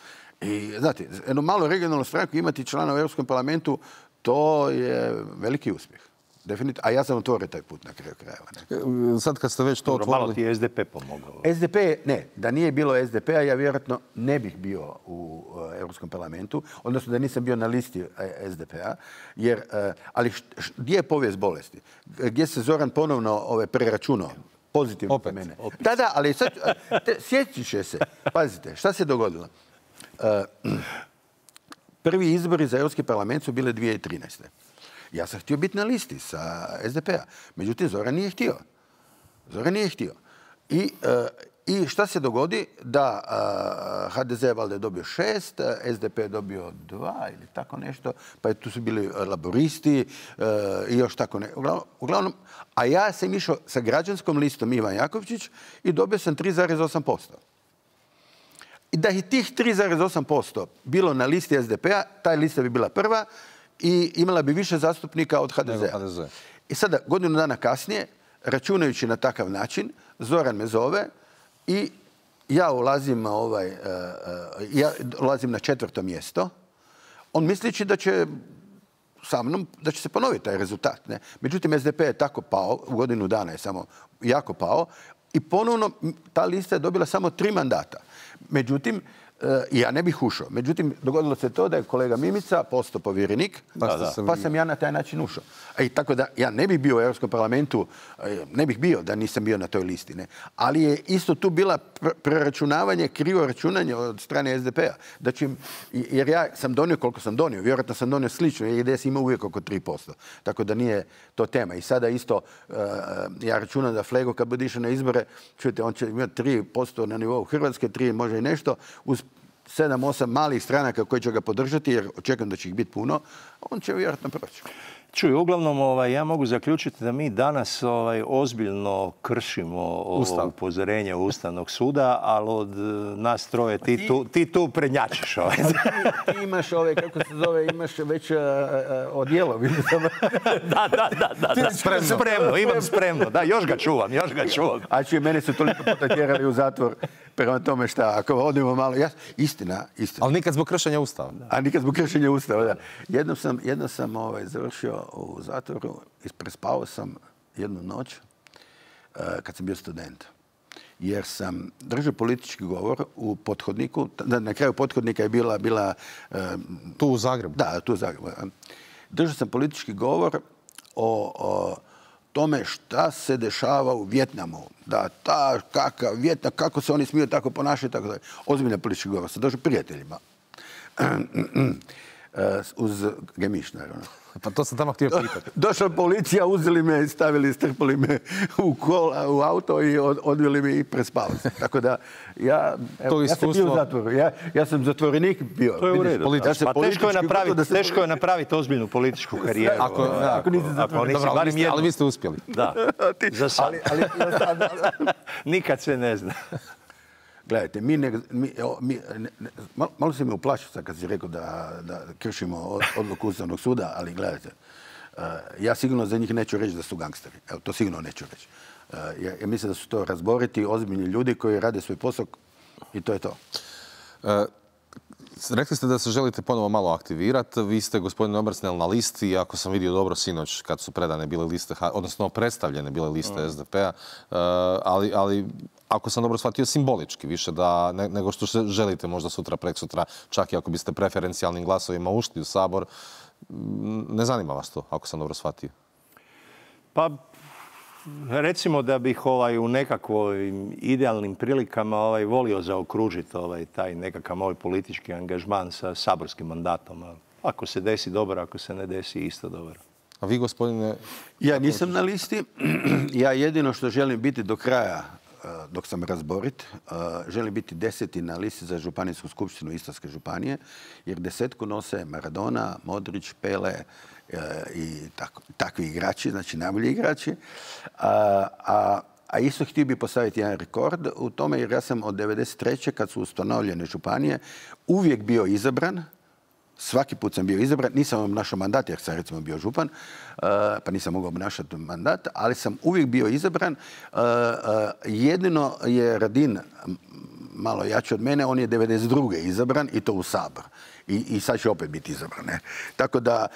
I znate, jednu malu regionalnu stranku imati člana u Europskom parlamentu, to je veliki uspjeh. Definitivno. A ja sam otvorio taj put na kraju krajeva. Sad kad ste već to otvorili... Malo ti je SDP pomogao. SDP, ne. Da nije bilo SDP-a, ja vjerojatno ne bih bio u Europskom parlamentu. Odnosno da nisam bio na listi SDP-a. Jer, ali gdje je povijest bolesti? Gdje se Zoran ponovno preračunao? Pozitivno opet, mene. Opet. Da, ali sad, sjetit će se. Pazite, šta se dogodilo? Prvi izbori za Europski parlament su bile 2013. Ja sam htio biti na listi sa SDP-a. Međutim, Zoran nije htio. I šta se dogodi? Da HDZ valjda je dobio 6, SDP je dobio 2 ili tako nešto, pa tu su bili laboristi i još tako ne. Uglavnom, a ja sam išao sa građanskom listom Ivan Jakovčić i dobio sam 3,8%. I da je tih 3,8% bilo na listi SDP-a, ta lista bi bila prva, i imala bi više zastupnika od HDZ-a. I sada, godinu dana kasnije, računajući na takav način, Zoran me zove i ja ulazim na 4. mjesto. On misleći da će sa mnom, da će se ponoviti taj rezultat. Ne? Međutim, SDP je tako pao, u godinu dana je samo jako pao, i ponovno ta lista je dobila samo 3 mandata. Međutim, ja ne bih ušao. Međutim, dogodilo se to da je kolega Mimica postao povjerenik, pa sam ja na taj način ušao. I tako da ja ne bih bio u Europskom parlamentu, ne bih bio da nisam bio na toj listi. Ne? Ali je isto tu bila preračunavanje, krivo računanje od strane SDP-a. Jer ja sam donio koliko sam donio. Vjerojatno sam donio slično, jer IDS ima uvijek oko 3%. Tako da nije to tema. I sada isto, ja računam da Flego kad bude išao na izbore, čujete, on će imati 3% na nivou Hrvatske, 3 može i nešto, uz 7-8 malih stranaka koji će ga podržati, jer očekujem da će ih biti puno, on će vjerojatno proći. Čuj, uglavnom ja mogu zaključiti da mi danas ozbiljno kršimo upozorenje Ustavnog suda, ali od nas troje ti tu prednjačiš. Ti imaš kako se zove, imaš već odjelo. Da. Spremno, imam spremno. Da, još ga čuvam. A čuje, mene su toliko potjerali u zatvor. Prema tome šta, ako odimo malo... Istina. Ali nikad zbog kršenja Ustava. A nikad zbog kršenja Ustava, da. Jednom sam završio u zatvoru i prespao sam jednu noć kad sam bio student. Jer sam držao politički govor u pothodniku. Na kraju pothodnika je bila... Tu u Zagrebu? Da, tu u Zagrebu. Držao sam politički govor o tome šta se dešava u Vjetnamu. Da, Vjetnam, kako se oni smiju tako ponašati, tako da. Ozbiljna politička govor. Sam došao prijateljima. Uz gemiš, naravno. Pa to sam tamo htio pitati. Došla policija, uzeli me, strpali me u auto i odveli me i prespao se. Tako da, ja sam bio u zatvoru. Ja sam zatvorenik bio. To je u redu. Pa teško je napraviti ozbiljnu političku karijeru. Ako nisi zatvorenik. Ali vi ste uspjeli. Da. Za sad. Nikad se ne zna. Gledajte, malo se mi uplašio sad kad si rekao da kršimo odluku Ustavnog suda, ali gledajte, ja sigurno za njih neću reći da su gangsteri. Evo, to sigurno neću reći. Ja mislim da su to razboriti, ozbiljni ljudi koji rade svoj posao i to je to. Rekli ste da se želite ponovo malo aktivirati. Vi ste, gospodine Obersnel, na listi, ako sam vidio dobro sinoć kad su predane bile liste, odnosno predstavljene bile liste SDP-a, ali ako sam dobro shvatio, simbolički više nego što se želite možda sutra, preksutra, čak i ako biste preferencijalnim glasovima ušli u Sabor. Ne zanima vas to, ako sam dobro shvatio? Pa, recimo da bih u nekakvim idealnim prilikama volio zaokružiti taj nekakav moj politički angažman sa saborskim mandatom. Ako se desi dobro, ako se ne desi isto dobro. A vi, gospodine? Ja nisam na listi. Ja jedino što želim biti do kraja, dok sam razborit, želim biti 10. na listi za županijsku skupštinu Istarske županije, jer 10. nose Maradona, Modrić, Pele i takvi igrači, znači najbolji igrači. A isto htio bih postaviti jedan rekord u tome, jer ja sam od 1993. kad su ustanovljene županije uvijek bio izabran. Svaki put sam bio izabran, nisam obnašao mandat jer sam recimo bio župan, pa nisam mogao obnašati mandat, ali sam uvijek bio izabran. Jedino je Radin malo jači od mene, on je 1992. izabran i to u Sabor. I sad će opet biti izabran. Ne? Tako da,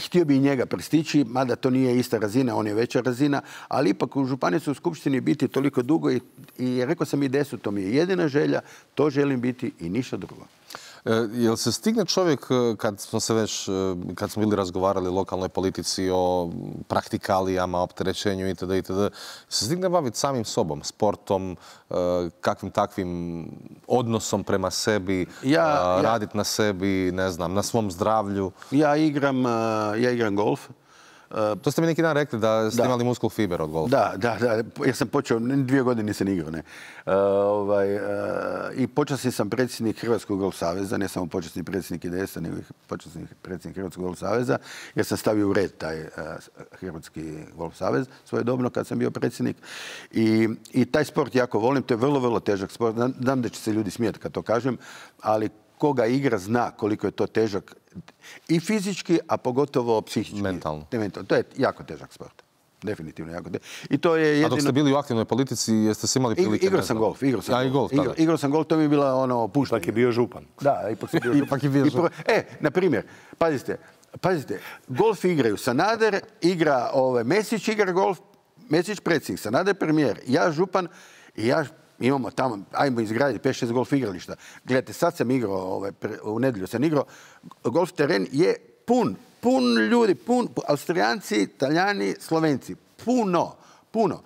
htio bi i njega prestići, mada to nije ista razina, on je veća razina, ali ipak u županijskoj skupštini biti toliko dugo i rekao sam i 10, to mi je jedina želja, to želim biti i ništa drugo. Jel se stigne čovjek, kad smo bili razgovarali o lokalnoj politici, o praktikalijama, opterećenju itd., se stigne baviti samim sobom, sportom, kakvim takvim odnosom prema sebi, raditi na sebi, ne znam, na svom zdravlju? Ja igram golf. To ste mi neki dan rekli da ste imali muskul fiber od golfa. Da. Ja sam počeo, 2 godine nisam igrao. I počasni sam predsjednik Hrvatskog golf saveza, ne samo počasni predsjednik IDS-a, nego počasni predsjednik Hrvatskog golf saveza, jer sam stavio u red taj Hrvatski golf savez svojedobno kad sam bio predsjednik. I taj sport jako volim, to je vrlo, vrlo težak sport. Znam da će se ljudi smijeti kad to kažem, ali koga igra zna koliko je to težak i fizički, a pogotovo psihički. Mentalno. To je jako težak sport. Definitivno jako težak. I to je jedino... A dok ste bili u aktivnoj politici, jeste se imali prilike... Igrao sam golf. Igrao sam golf, to mi je bila puštanje. Ipak je bio župan. Da, ipak je bio župan. Na primjer, pazite, golf igraju. Sanader igra, Mesić igra golf, Mesić predsjednik, Sanader premijer, ja župan i ja... Imamo tamo, ajmo izgraditi 5-6 golf igrališta. Gledajte, sad sam igrao, u nedjelju sam igrao, golf teren je pun ljudi, Austrijanci, Italijani, Slovenci. Puno.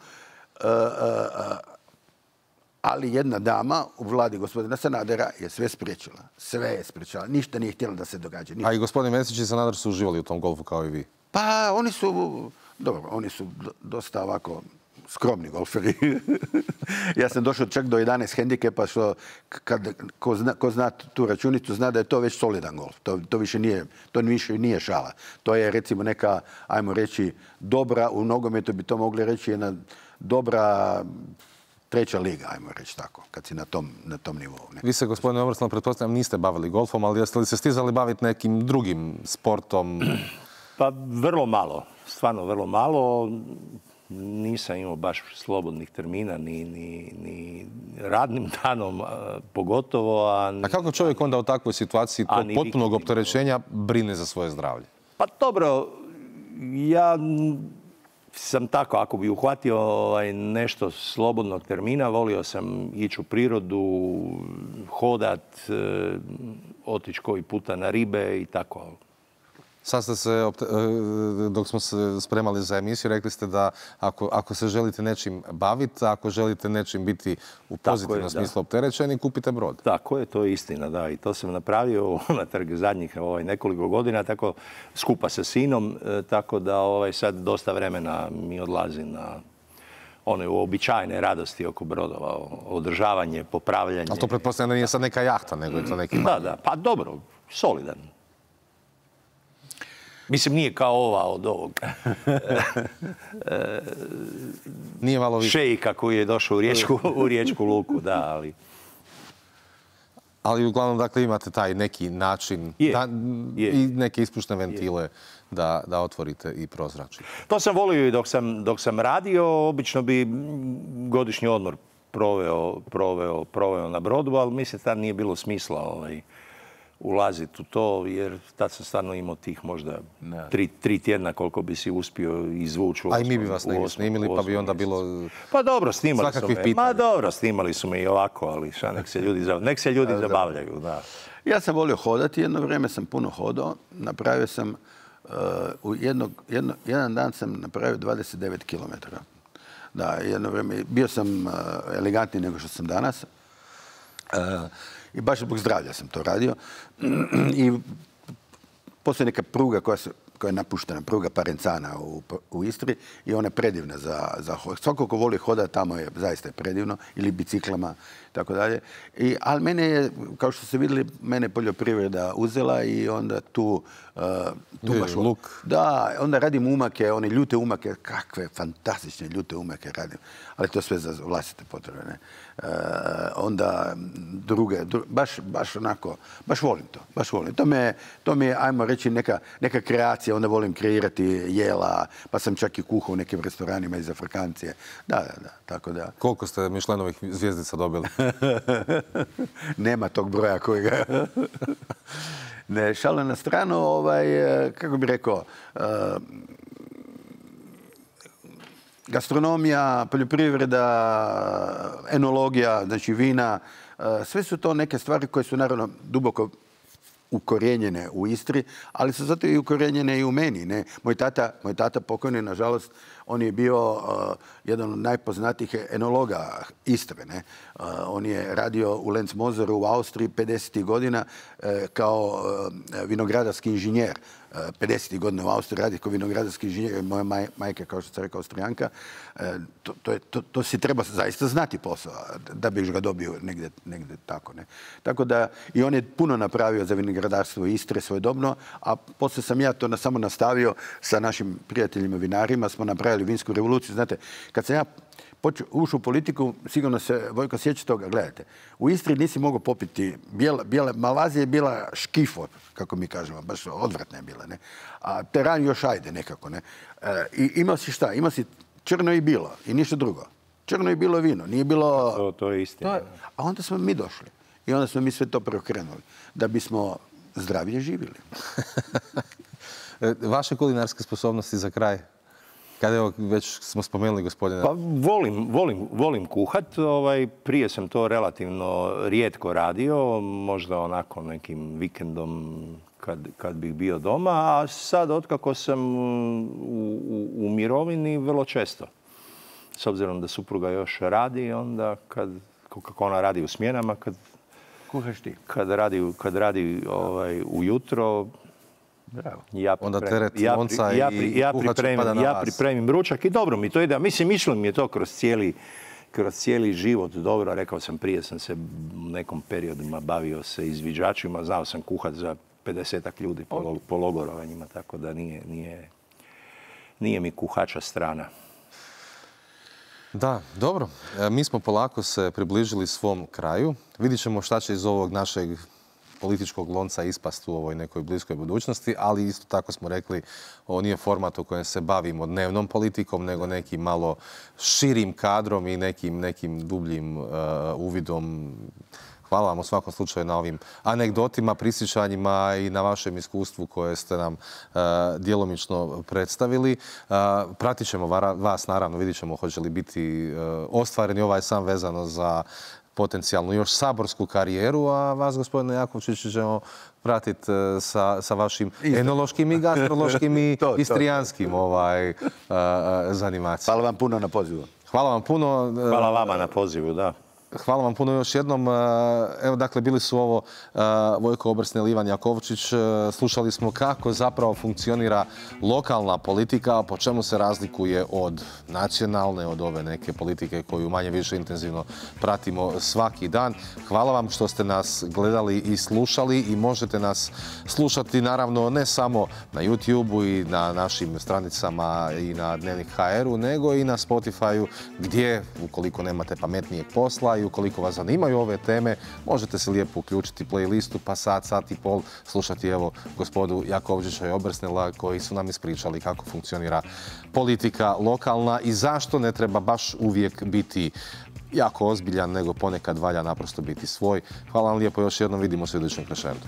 Ali jedna dama u vladi gospodina Sanadera je sve spriječila. Sve je spriječila. Ništa nije htjela da se događa. A i gospodin Mesić i Sanader su uživali u tom golfu kao i vi? Pa oni su dosta ovako... skromni golferi. Ja sam došao čak do 11 hendikepa, što ko zna tu računicu zna da je to već solidan golf. To više nije šala. To je recimo neka, ajmo reći, dobra, u nogometu bi to mogli reći, jedna dobra 3. liga, ajmo reći tako, kad si na tom nivou. Vi se, gospodine Obersnel, pretpostavljam, niste bavili golfom, ali jeste li se stizali baviti nekim drugim sportom? Pa vrlo malo, stvarno vrlo malo. Nisam imao baš slobodnih termina, ni radnim danom pogotovo. A kako čovjek onda u takvoj situaciji tog potpunog opterećenja brine za svoje zdravlje? Pa dobro, ja sam tako, ako bi uhvatio nešto slobodnog termina, volio sam ići u prirodu, hodat, otići koji puta na ribe i tako. Sad ste se, dok smo se spremali za emisiju, rekli ste da ako se želite nečim baviti, ako želite nečim biti u pozitivnom smislu opterećeni, kupite brod. Tako je, to je istina, da. I to sam napravio unatrag zadnjih nekoliko godina, tako skupa sa sinom, tako da sad dosta vremena mi odlazi na one uobičajene radosti oko brodova, održavanje, popravljanje. Ali to pretpostavljam da nije sad neka jahta, nego je to neki manji. Da, pa dobro, solidan. Mislim, nije kao ova od ovog nije malo više šejka koji je došao u Riječku luku, da, ali... Ali uglavnom, dakle, imate taj neki način i neke ispušne ventile da otvorite i prozračite. To sam volio i dok sam radio. Obično bi godišnji odmor proveo na brodu, ali mislim tad nije bilo smisla ulaziti u to, jer tad sam stvarno imao tih možda 3 tjedna koliko bi si uspio izvući. A i mi bi vas negdje snimili, pa bi onda bilo pa dobro, snimali su me. Ma dobro, snimali su me i ovako, ali nek se ljudi zabavljaju. Da. Ja sam volio hodati, jedno vrijeme sam puno hodao. Napravio sam, jedan dan sam napravio 29 km. Da, jedno vrijeme, bio sam elegantniji nego što sam danas. I baš zbog zdravlja sam to radio. I postoji neka pruga koja je napuštena, pruga Parencana u Istri i ona je predivna za svako ko voli hodati tamo je zaista predivno, ili biciklama, tako dalje. Ali mene je, kao što ste vidjeli, mene je poljoprivreda uzela i onda tu baš luk. Da, onda radim umake, one ljute umake, kakve fantastične ljute umake radim, ali to sve za vlastite potrebe, ne. Onda baš onako, baš volim to. To mi je, ajmo reći, neka kreacija, onda volim kreirati jela, pa sam čak i kuhao u nekim restoranima iz Afrikancije. Da, tako da. Koliko ste Michelinovih zvjezdica dobili? Nema tog broja kojega... Ne, šale na stranu, kako bi rekao, gastronomija, poljoprivreda, enologija, znači vina, sve su to neke stvari koje su naravno duboko ukorijenjene u Istri, ali su zato i ukorijenjene i u meni. Ne? Moj tata pokojni, nažalost, on je bio jedan od najpoznatijih enologa Istre. Ne? On je radio u Lenzmoseru u Austriji 50. godina kao vinogradarski inženjer. 50. godina u Austriji radi kao vinogradarski inženjer. Moja majka, kao što sam rekao, Austrijanka. To si treba zaista znati posao da bi ga dobio negdje tako. Ne? Tako da i on je puno napravio za vinogradarstvo Istre svojedobno, a poslije sam ja to samo nastavio sa našim prijateljima vinarima, smo napravili vinsku revoluciju. Znate, kad sam ja ušao u politiku, sigurno se Vojko sjeća toga, gledajte, u Istri nisi mogao popiti Malazija je bila škifo, kako mi kažemo, baš odvratna je bila, ne? A teran još ajde nekako, ne? I imao si šta? Imao si crno i bilo i ništa drugo. Crno i bilo vino, nije bilo... To je istina. A onda smo mi došli i onda smo mi sve to preokrenuli da bismo zdravije živjeli. Vaše kulinarske sposobnosti za kraj? Kada evo, već smo spomenuli gospodina... Pa volim kuhat. Prije sam to relativno rijetko radio, možda onako nekim vikendom kad bih bio doma, a sad otkako sam u mirovini vrlo često. S obzirom da supruga još radi, onda kako ona radi u smjenama, kuhaš ti. Kad radi ujutro, bravo. Onda teret lonca i kuhač pada na vas. Ja pripremim ručak i dobro mi to ide. Mislim, išlo mi je to kroz cijeli život dobro. Rekao sam, prije sam se u nekom periodima bavio se izviđačima. Znao sam kuhat za 50-ak ljudi po logorovanjima, tako da nije mi kuhača strana. Da, dobro. Mi smo polako se približili svom kraju. Vidjet ćemo šta će iz ovog našeg političkog lonca ispast u ovoj nekoj bliskoj budućnosti, ali isto tako smo rekli, ovo nije format u kojem se bavimo dnevnom politikom, nego nekim malo širim kadrom i nekim dubljim uvidom. Hvala vam u svakom slučaju na ovim anegdotima, prisjećanjima i na vašem iskustvu koje ste nam djelomično predstavili. Pratit ćemo vas, naravno, vidjet ćemo hoće li biti ostvareni ovaj sam vezano za potencijalnu još saborsku karijeru, a vas, gospodine Jakovčić, ćemo pratiti sa vašim enološkim i gastrološkim i istrijanskim zanimacijama. Hvala vam puno na pozivu. Hvala vam puno. Hvala vama na pozivu, da. Hvala vam puno još jednom. Evo, dakle, bili su ovo Vojko Obrsnel, Ivan Jakovčić. Slušali smo kako zapravo funkcionira lokalna politika, po čemu se razlikuje od nacionalne, od ove neke politike koju manje više intenzivno pratimo svaki dan. Hvala vam što ste nas gledali i slušali i možete nas slušati naravno ne samo na YouTube-u i na našim stranicama i na Dnevnik HR-u, nego i na Spotify-u gdje, ukoliko nemate pametnijeg posla i ukoliko vas zanimaju ove teme, možete se lijepo uključiti playlistu pa sat i pol slušati evo gospodu Jakovčića i Obrsnela koji su nam ispričali kako funkcionira politika lokalna i zašto ne treba baš uvijek biti jako ozbiljan, nego ponekad valja naprosto biti svoj. Hvala vam lijepo još jednom, vidimo se u idućem Crescendu.